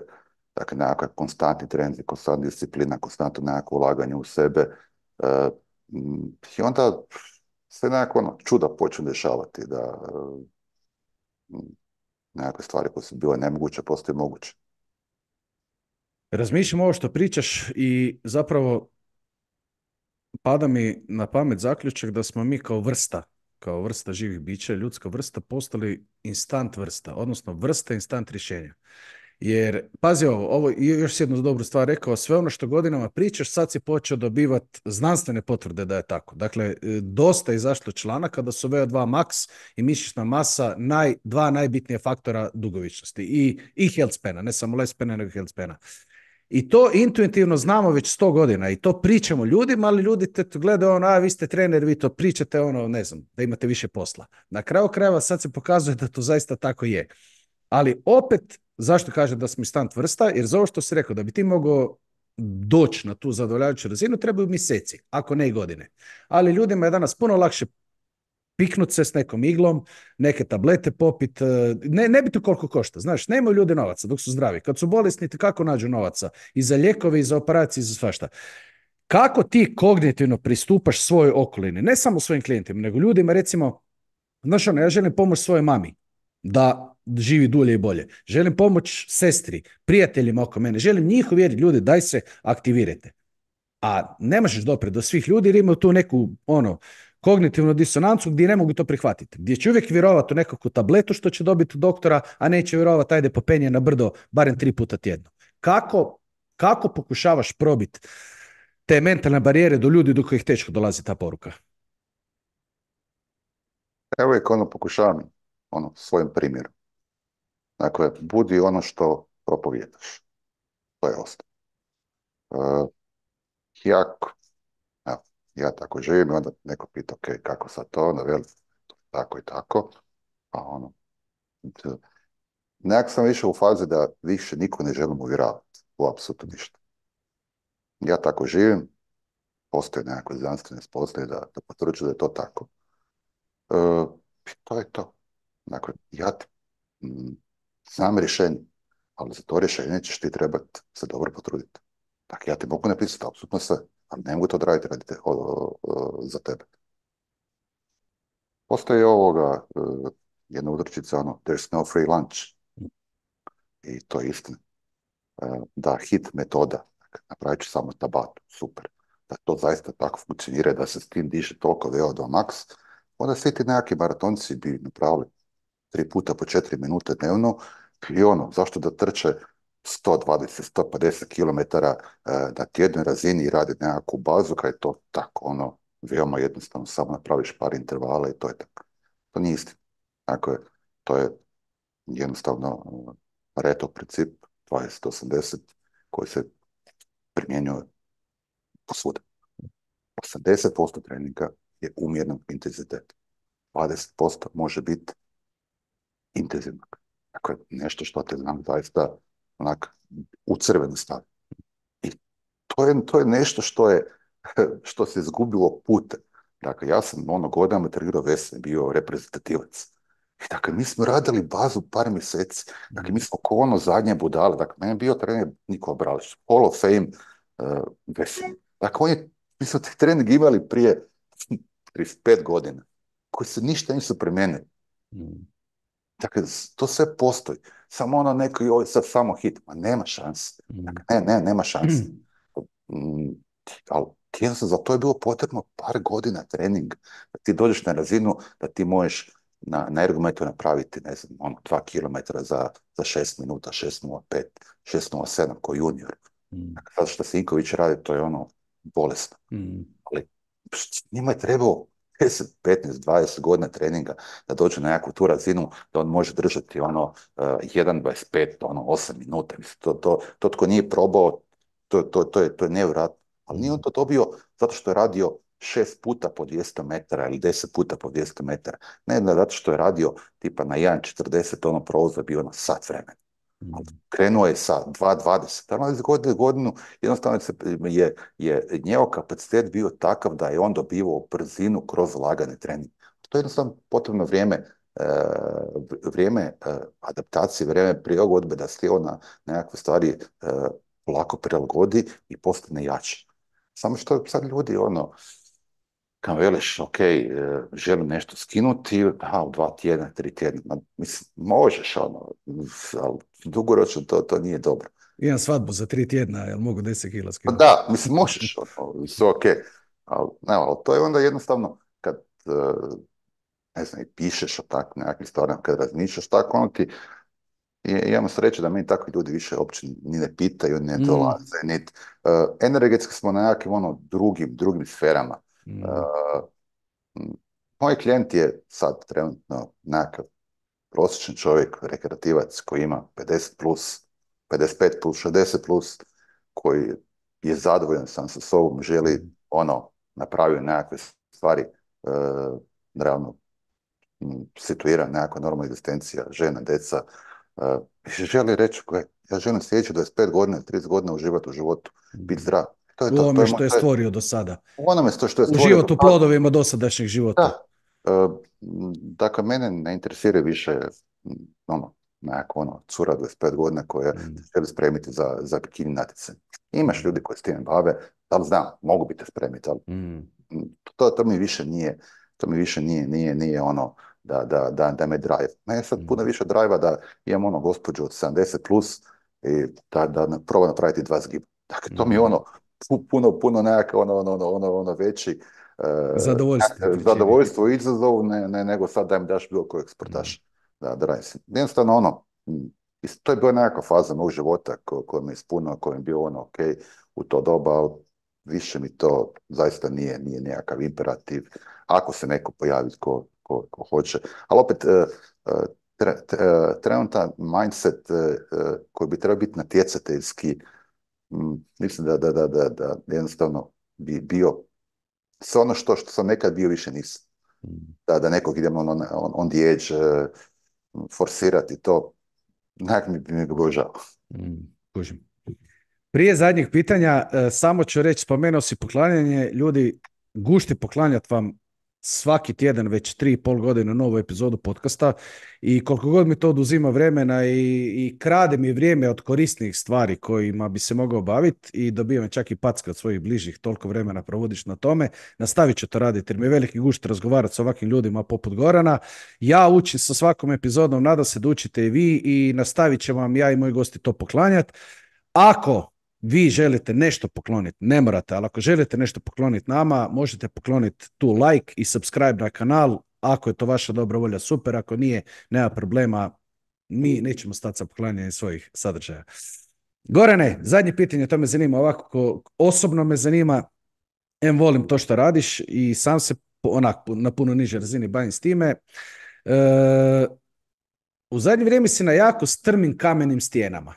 dakle, nekakav konstantni trend, konstantna disciplina, konstantno nekakvo ulaganje u sebe. E, m, I onda se nekako ono, čuda počne dešavati, da e, nekakve stvari koje su bile nemoguće postaju moguće. Razmišljam ovo što pričaš i zapravo pada mi na pamet zaključak da smo mi kao vrsta, kao vrsta živih bića, ljudska vrsta, postali instant vrsta, odnosno vrsta instant rješenja. Jer, pazi ovo, ovo je još jednu dobru stvar rekao, sve ono što godinama pričaš, sad si počeo dobivati znanstvene potvrde da je tako. Dakle, e, dosta je izašlo članaka da su V O dva max i mišićna masa naj, dva najbitnije faktora dugovičnosti i, i health spana, ne samo lifespana, nego health spana. I to intuitivno znamo već sto godina i to pričamo ljudima, ali ljudi te gledaju ono, a vi ste trener, vi to pričate, ono, ne znam, da imate više posla. Na kraju krajeva sad se pokazuje da to zaista tako je. Ali opet, zašto kažem da smo stan vrsta? Jer za ovo što si rekao, da bi ti mogao doći na tu zadovoljavajuću razinu, trebaju mjeseci, ako ne i godine. Ali ljudima je danas puno lakše piknut se s nekom iglom, neke tablete popit, ne, ne bi to koliko košta, znaš, nemaju ljudi novaca dok su zdravi. Kad su bolesni, kako nađu novaca? I za lijekove, i za operacije, i za svašta. Kako ti kognitivno pristupaš svojoj okolini, ne samo svojim klijentima, nego ljudima, recimo, znaš ono, ja želim pomoći svojoj mami da živi dulje i bolje. Želim pomoć sestri, prijateljima oko mene, želim njih uvjeriti, ljudi, daj se aktivirajte. A ne možeš doprijeti do svih ljudi jer imaju tu neku, ono, kognitivnu disonancu gdje ne mogu to prihvatiti. Gdje će uvijek vjerovati u nekakvu tabletu što će dobiti od doktora, a neće vjerovati ajde popenje na brdo barem tri puta tjedno. Kako, kako pokušavaš probiti te mentalne barijere do ljudi do kojih teško dolazi ta poruka? Evo je ono pokušavam, ono, svojim primjerom. Dakle, budi ono što propovijedaš. To je osnovno. Uh, ja, ja, ja tako živim i onda neko pita, ok, kako sad to, onda veli, tako i tako, a ono, nekak sam više u fazi da više niko ne želim uvjeravati u apsolutno ništa. Ja tako živim, postoje nekakve znanstvene spoznaje da, da potvrđuju da je to tako. Uh, to je to. Dakle, ja ti, mm, znam rješenje, ali za to rješenje ćeš ti trebati se dobro potruditi. Dakle, ja ti mogu napisati apsolutno sve, ali ne mogu to odraditi radi te, o, o, o, za tebe. Postoji ovoga, uh, jedna udrčica, ono, there's no free lunch. I to je istina. Uh, da, hit metoda, dakle, napravit ću samo tabatu, super. Da to zaista tako funkcionira, da se s tim diše toliko V O dva max, onda svi ti nekakvi maratonci bi napravili tri puta po četiri minute dnevno i ono, zašto da trče sto dvadeset do sto pedeset kilometara uh, na tjednoj razini i radi nekakvu bazu, kad je to tako, ono, veoma jednostavno, samo napraviš par intervala i to je tako. To nije istina. Dakle, to je jednostavno uh, Pareto princip dvadeset osamdeset koji se primjenjuje posvuda. osamdeset posto treninga je umjernog intenziteta. dvadeset posto može biti intenzivnog. Dakle, nešto što te znam zaista onak u crvenu stavi. I to je, to je nešto što je što se izgubilo putem. Dakle, ja sam ono godinama trenirao vesel, bio reprezentativac. I dakle, mi smo radili bazu par mjeseci. Dakle, mi smo ko ono zadnje budale. Dakle, meni je bio trener Nikola Bralić, Hall of Fame uh, vesel. Dakle, on je, mi smo te trening imali prije trideset pet godina, koji se ništa nisu promijenili. Dakle, to sve postoji. Samo ono neko i ovo sad samo hit. Ma nema šanse. Dakle, ne, ne, nema šanse. Mm, ali jednostavno za to je bilo potrebno par godina treninga. Da ti dođeš na razinu da ti možeš na, na ergometru napraviti, ne znam, ono, dva kilometra za, za šest minuta, šest nula pet, šest nula sedam ko junior. Dakle, sad što Sinković radi, to je ono bolesno. Mm. Ali njima je trebalo deset, petnaest, dvadeset godina treninga da dođe na nekakvu tu razinu da on može držati ono uh, jedan dvadeset pet, ono osam minuta. Mislim, to, to, to tko nije probao, to, to, to je, to je nevjerojatno. Ali nije on to dobio zato što je radio šest puta po dvjesto metara ili deset puta po dvjesto metara. Ne, ne zato što je radio tipa na jedan četrdeset, ono prolaz bio na sat vremena. Ali krenuo je sa dva dvadeset, ali iz godine godinu jednostavno je, je njegov kapacitet bio takav da je on dobivao brzinu kroz lagane treninge. To je jednostavno potrebno vrijeme, vrijeme adaptacije, vrijeme prilagodbe da se on na nekakve stvari lako prilagodi i postane jači. Samo što sad ljudi ono, kad veliš, ok, želim nešto skinuti, a u dva tjedna, tri tjedna, mislim, možeš ono, ali dugoročno to, to nije dobro. Imam svadbu za tri tjedna, jel mogu deset kila skinuti? Da, mislim, možeš, ono, sve ok, ali, ne, ali to je onda jednostavno, kad, ne znam, i pišeš o tak nekakvim stvarima, kad razmišljaš tako, ono ti i imamo sreće da meni takvi ljudi više uopće ni ne pitaju, ni ne Mm, dolaze, nit, uh, energetski smo na nekim ono drugim, drugim sferama. mm, Uh, m, Moj klijent je sad trenutno nekakav prosječan čovjek, rekreativac koji ima pedeset plus, pedeset pet plus, šezdeset plus, koji je zadovoljan sam sa sobom, želi mm, ono, napravio nekakve stvari, uh, realno m, situira nekakva normalna egzistencija, žena, deca, uh, želi reći, gle, ja želim sljedeće dvadeset pet godina, trideset godina uživati u životu, biti mm. zdrav. To je U to, to ovome je, moj- što je to je stvorio do sada. u onome što, što je U stvorio. životu, plodovima dosadašnjeg života. Da. E, m, dakle, mene ne interesira više m, ono, nekako ono, cura dvadeset pet godina koja Mm, se želi spremiti za, za bikini natjecanje. Imaš mm, ljudi koji s tim bave, da li znam, mogu biti spremiti, ali mm, m, to, to mi više nije, to mi više nije, nije, nije ono da, da, da, da me drive. Mene je sad puno mm, više drive da imam ono gospođu od sedamdeset plus i da, da na- proba napraviti dva zgiba. Dakle, to mi je mm. ono pu- puno, puno nekako ono, ono, ono, ono, ono veći e, Zadovoljstvo ti pričini. zadovoljstvo i izazov ne, ne, nego sad da mi daš bilo kojeg Mm, sportaša da, da radim. Jednostavno ono, m, is- to je bila nekakva faza mog života ko, koja me ispunila, koja mi je bio ono ok u to doba, ali više mi to zaista nije, nije nekakav imperativ ako se neko pojavi ko, ko, ko hoće. Ali opet, e, e, tre, tre, e, trenutan mindset e, e, koji bi trebao biti natjecateljski, m, mislim da, da, da, da, da jednostavno bi bio sve ono što, što sam nekad bio, više nisam. mm, Da, da nekog idemo on, on, on the edge, eh, forsirati to, nekak mi bi mi bilo žao. mm. Kužim. Prije zadnjih pitanja, e, samo ću reći, spomenuo si poklanjanje, ljudi, gušti poklanjati vam svaki tjedan već tri i pol godine novu epizodu podcasta i koliko god mi to oduzima vremena i, i krade mi vrijeme od korisnih stvari kojima bi se mogao baviti i dobivam čak i packe od svojih bližih, toliko vremena provodiš na tome, nastavit ću to raditi jer mi je veliki gušt razgovarati s ovakvim ljudima poput Gorana. Ja učim sa svakom epizodom, nadam se da učite i vi i nastavit ćemo vam ja i moji gosti to poklanjati. Ako vi želite nešto pokloniti, ne morate, ali ako želite nešto pokloniti nama, možete pokloniti tu like i subscribe na kanal. Ako je to vaša dobra volja, super. Ako nije, nema problema. Mi nećemo stati sa poklanjanjem svojih sadržaja. Gorane, zadnje pitanje, to me zanima ovako, ko, osobno me zanima, em volim to što radiš i sam se onak na puno nižoj razini bavim s time. E, u zadnje vrijeme si na jako strmim kamenim stijenama.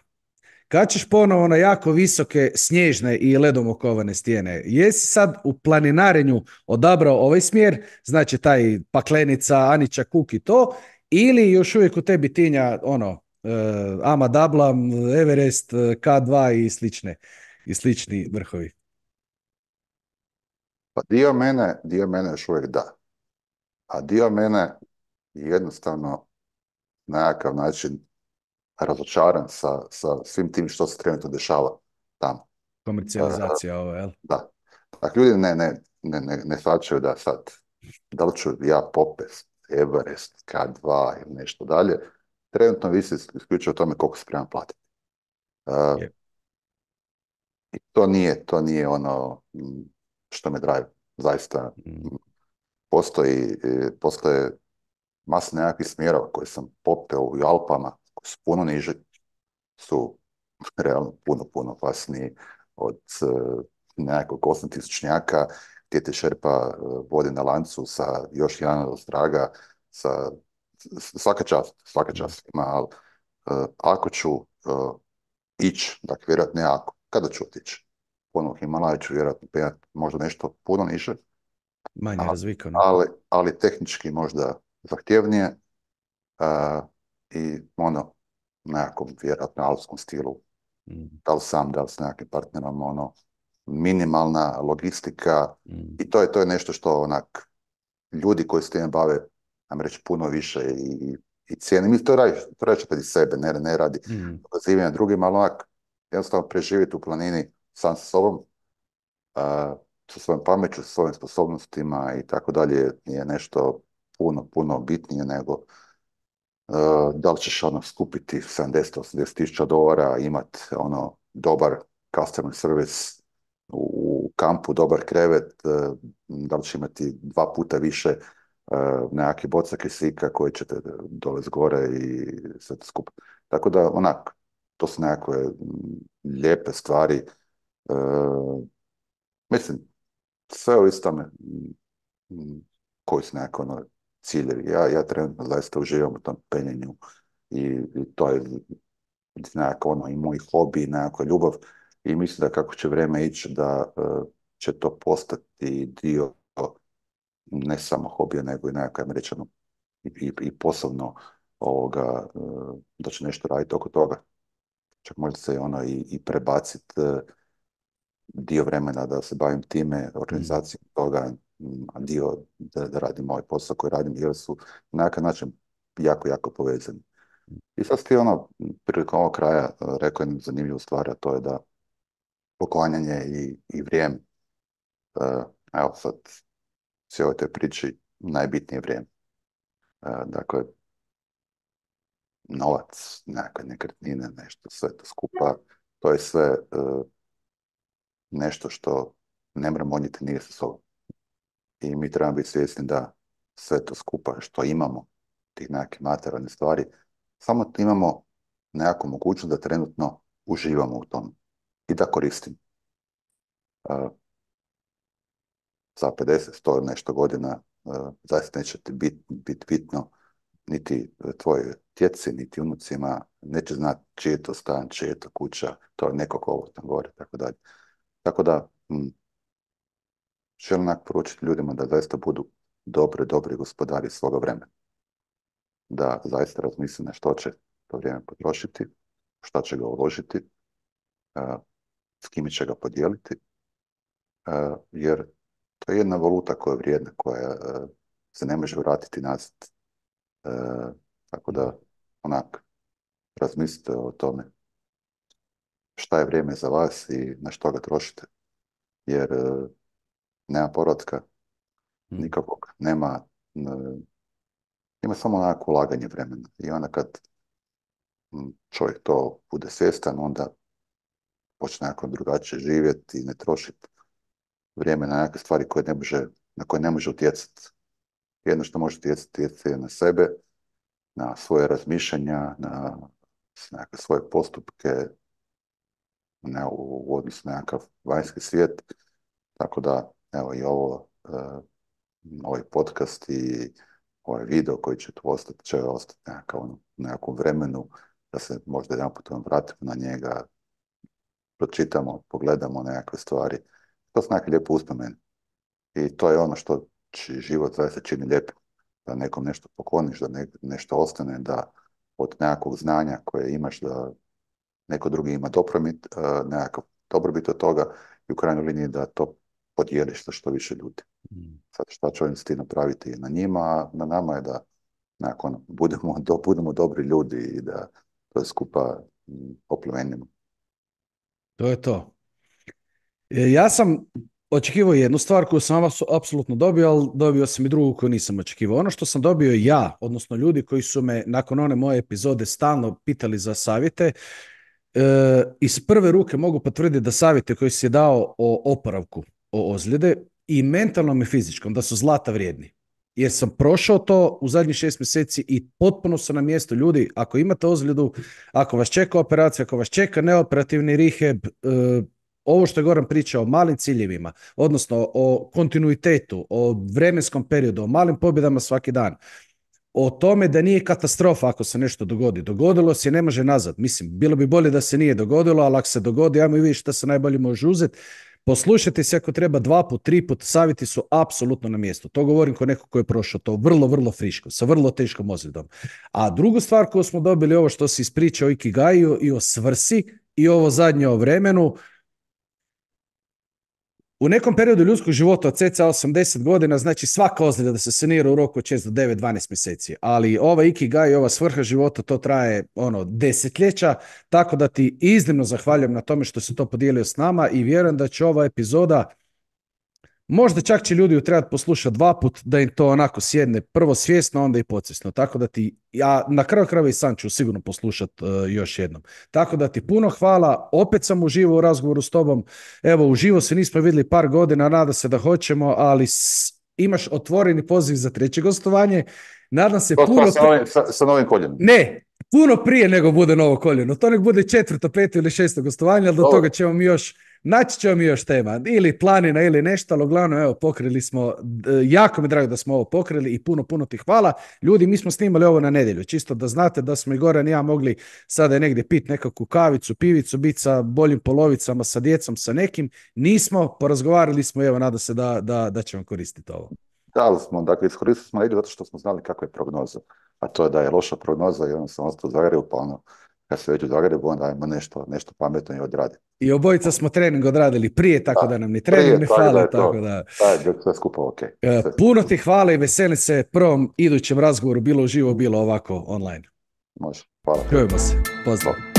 Kad ćeš ponovo na jako visoke snježne i ledom okovane stijene? Jesi sad u planinarenju odabrao ovaj smjer, znači taj Paklenica, Anića, Kuk i to, ili još uvijek u tebi tinja ono, uh, Ama Dablam, Everest, K dva i slične, i slični vrhovi? Pa dio mene, dio mene još uvijek da. A dio mene je jednostavno na nekakav način razočaran sa, sa svim tim što se trenutno dešava tamo. E, Komercijalizacija ovo, jel? da. Dakle, ljudi ne, ne, ne, ne, ne shvaćaju da sad, da li ću ja popest, Everest, K dva ili nešto dalje, trenutno visi isključivo o tome koliko se spreman platiti. E, Je. I to nije, to nije ono m, što me drive. Zaista Mm, postoji, e, postoje masa nekakvih smjerova koje sam popeo u Alpama, koji su puno niži, su realno puno, puno opasniji od e, nekakvog osmotisućnjaka gdje te šerpa e, vodi na lancu sa još jedan od straga, sa s- svaka čast, svaka mm, čast ima, ali e, ako ću e, ići, dakle vjerojatno ne ako, kada ću otići? Ponovno Himalaja ću vjerojatno penjati možda nešto puno niže, manje a- razvikano. ali, ali tehnički možda zahtjevnije a, i ono, nekakvom vjerojatno alpskom stilu, Mm, da li sam, da li s nekakvim partnerom, ono, minimalna logistika mm, i to je, to je nešto što onak, ljudi koji se time bave, nam reći, puno više i, i cijene. Mi to radi, to radi radi sebe, ne, ne radi mm. dokazivanja drugima, ali onak, jednostavno preživjeti u planini sam sa sobom, a, sa svojom pameću, sa svojim sposobnostima i tako dalje je nešto puno, puno bitnije nego uh, da li ćeš ono skupiti sedamdeset do osamdeset tisuća dolara, imat ono dobar customer service u, u kampu, dobar krevet, uh, da li će imati dva puta više nekakve boca kisika koje ćete dole gore i sve to skupa. Tako da, onak, to su nekakve mm, lijepe stvari. E, mislim, sve ovisi tome mm, mm, koji su nekakve ono, ciljevi. Ja, ja trenutno zaista uživam u tom penjenju i, i to je nekako ono i moj hobi, nekakva ljubav i mislim da kako će vrijeme ići da uh, će to postati dio ne samo hobija nego i nekakve američano i, i, i posebno ovoga, uh, da će nešto raditi oko toga. Čak možda se ono i, i prebaciti uh, dio vremena da se bavim time, organizacijom toga, a dio da, da radim ovaj posao koji radim jer su na nekakav način jako, jako povezani. I sad ti ono, prilikom ovog kraja uh, rekao jednu zanimljivu stvar, a to je da poklanjanje i, i vrijeme. Uh, evo sad, sve ovoj toj priči najbitnije vrijeme. Uh, dakle, novac, nekakve nekretnine, nešto, sve to skupa, to je sve uh, nešto što ne moramo odnijeti nije sa sobom. I mi trebamo biti svjesni da sve to skupa što imamo, tih nekakvih materijalne stvari, samo imamo nekakvu mogućnost da trenutno uživamo u tom i da koristimo. Uh, za pedeset, sto nešto godina uh, zaista neće ti biti bit bitno niti tvoje djeci, niti unucima, neće znati čiji je to stan, čiji je to kuća, to je nekog ovo tam gore, tako dalje. Tako da, hm, želim onak poručiti ljudima da zaista budu dobri, dobri gospodari svoga vremena. Da zaista razmisle na što će to vrijeme potrošiti, šta će ga uložiti, uh, s kime će ga podijeliti, uh, jer to je jedna valuta koja je vrijedna, koja uh, se ne može vratiti nazad. Uh, tako da, onak, razmislite o tome šta je vrijeme za vas i na što ga trošite. Jer uh, nema povratka nikakvog, nema, uh, ima samo onako ulaganje vremena. I onda kad um, čovjek to bude svjestan, onda počne nekako drugačije živjeti i ne trošiti vrijeme na neke stvari koje ne može, na koje ne može utjecati. Jedno što može utjecati je na sebe, na svoje razmišljanja, na nekakve svoje postupke, ne, u, u odnosu na nekakav vanjski svijet. Tako da, evo i ovo, uh, ovaj podcast i ovaj video koji će tu ostati, će ostati nekakav, ono, u nekakvom vremenu, da se možda jedan put vratimo na njega, pročitamo, pogledamo nekakve stvari. To su nekakve lijepe uspomene. I to je ono što će život zaista čini lijepo. Da nekom nešto pokloniš, da ne, nešto ostane, da od nekakvog znanja koje imaš, da neko drugi ima dobrobit, uh, nekakav dobrobit od toga i u krajnjoj liniji da to podijeliš sa što više ljudi. Mm. Sad šta će ovim s ti napraviti na njima, a na nama je da nakon budemo, do, budemo dobri ljudi i da to skupa oplemenimo. To je to. Ja sam očekivao jednu stvar koju sam apsolutno dobio, ali dobio sam i drugu koju nisam očekivao. Ono što sam dobio ja, odnosno ljudi koji su me nakon one moje epizode stalno pitali za savjete, e, iz prve ruke mogu potvrditi da savjete koji si je dao o oporavku, o ozljede i mentalnom i fizičkom, da su zlata vrijedni. Jer sam prošao to u zadnjih šest mjeseci i potpuno sam na mjestu. Ljudi, ako imate ozljedu, ako vas čeka operacija, ako vas čeka neoperativni rehab, e, ovo što je Goran pričao o malim ciljevima, odnosno o kontinuitetu, o vremenskom periodu, o malim pobjedama svaki dan, o tome da nije katastrofa ako se nešto dogodi. Dogodilo se, ne može nazad. Mislim, bilo bi bolje da se nije dogodilo, ali ako se dogodi, ajmo i vidjeti šta se najbolje može uzeti. Poslušajte se ako treba dva put, tri put, savjeti su apsolutno na mjestu. To govorim kao neko ko je prošao to vrlo, vrlo friško, sa vrlo teškom ozljedom. A drugu stvar koju smo dobili, ovo što si ispričao o Ikigaju i o svrsi i ovo zadnje o vremenu, u nekom periodu ljudskog života od cca osamdeset godina, znači svaka ozljeda da se sanira u roku od šest do devet, dvanaest mjeseci, ali ova Ikigai, ova svrha života, to traje ono desetljeća, tako da ti iznimno zahvaljujem na tome što si to podijelio s nama i vjerujem da će ova epizoda, možda čak će ljudi ju trebati poslušati dva put, da im to onako sjedne prvo svjesno, onda i podsvjesno. Tako da ti, ja na kraju krajeva i sam ću sigurno poslušati uh, još jednom. Tako da ti puno hvala, opet sam uživao u razgovoru s tobom. Evo, uživo se nismo vidjeli par godina, nada se da hoćemo, ali s, imaš otvoreni poziv za treće gostovanje. Nadam se To puno... sa, novim, sa, sa novim koljenom. Ne, puno prije nego bude novo koljeno. To nek bude četvrto, peto ili šesto gostovanje, ali do Dobro. toga ćemo mi još, naći ćemo mi još tema. Ili planina ili nešto, ali uglavnom, evo, pokrili smo, jako mi drago da smo ovo pokrili i puno, puno ti hvala. Ljudi, mi smo snimali ovo na nedjelju, čisto da znate da smo i Goran i ja mogli sada negdje pit nekakvu kavicu, pivicu, biti sa boljim polovicama, sa djecom, sa nekim. Nismo, porazgovarali smo i evo, nada se da, da, da ćemo koristiti ovo. Da, ali smo, dakle, iskoristili smo negdje zato što smo znali kakva je prognoza. A to je da je loša prognoza i onda sam ostao u Zagrebu, pa ono, kad se već u Zagrebu, onda ajmo nešto, nešto pametno i odraditi. I obojica smo trening odradili prije, tako da, da nam ni trening prije, ne tako fale, da tako to, da... Da, je sve skupa ok. E, puno ti hvala i veselim se prvom idućem razgovoru, bilo uživo, bilo ovako online. Može, hvala. Čujemo se, pozdrav.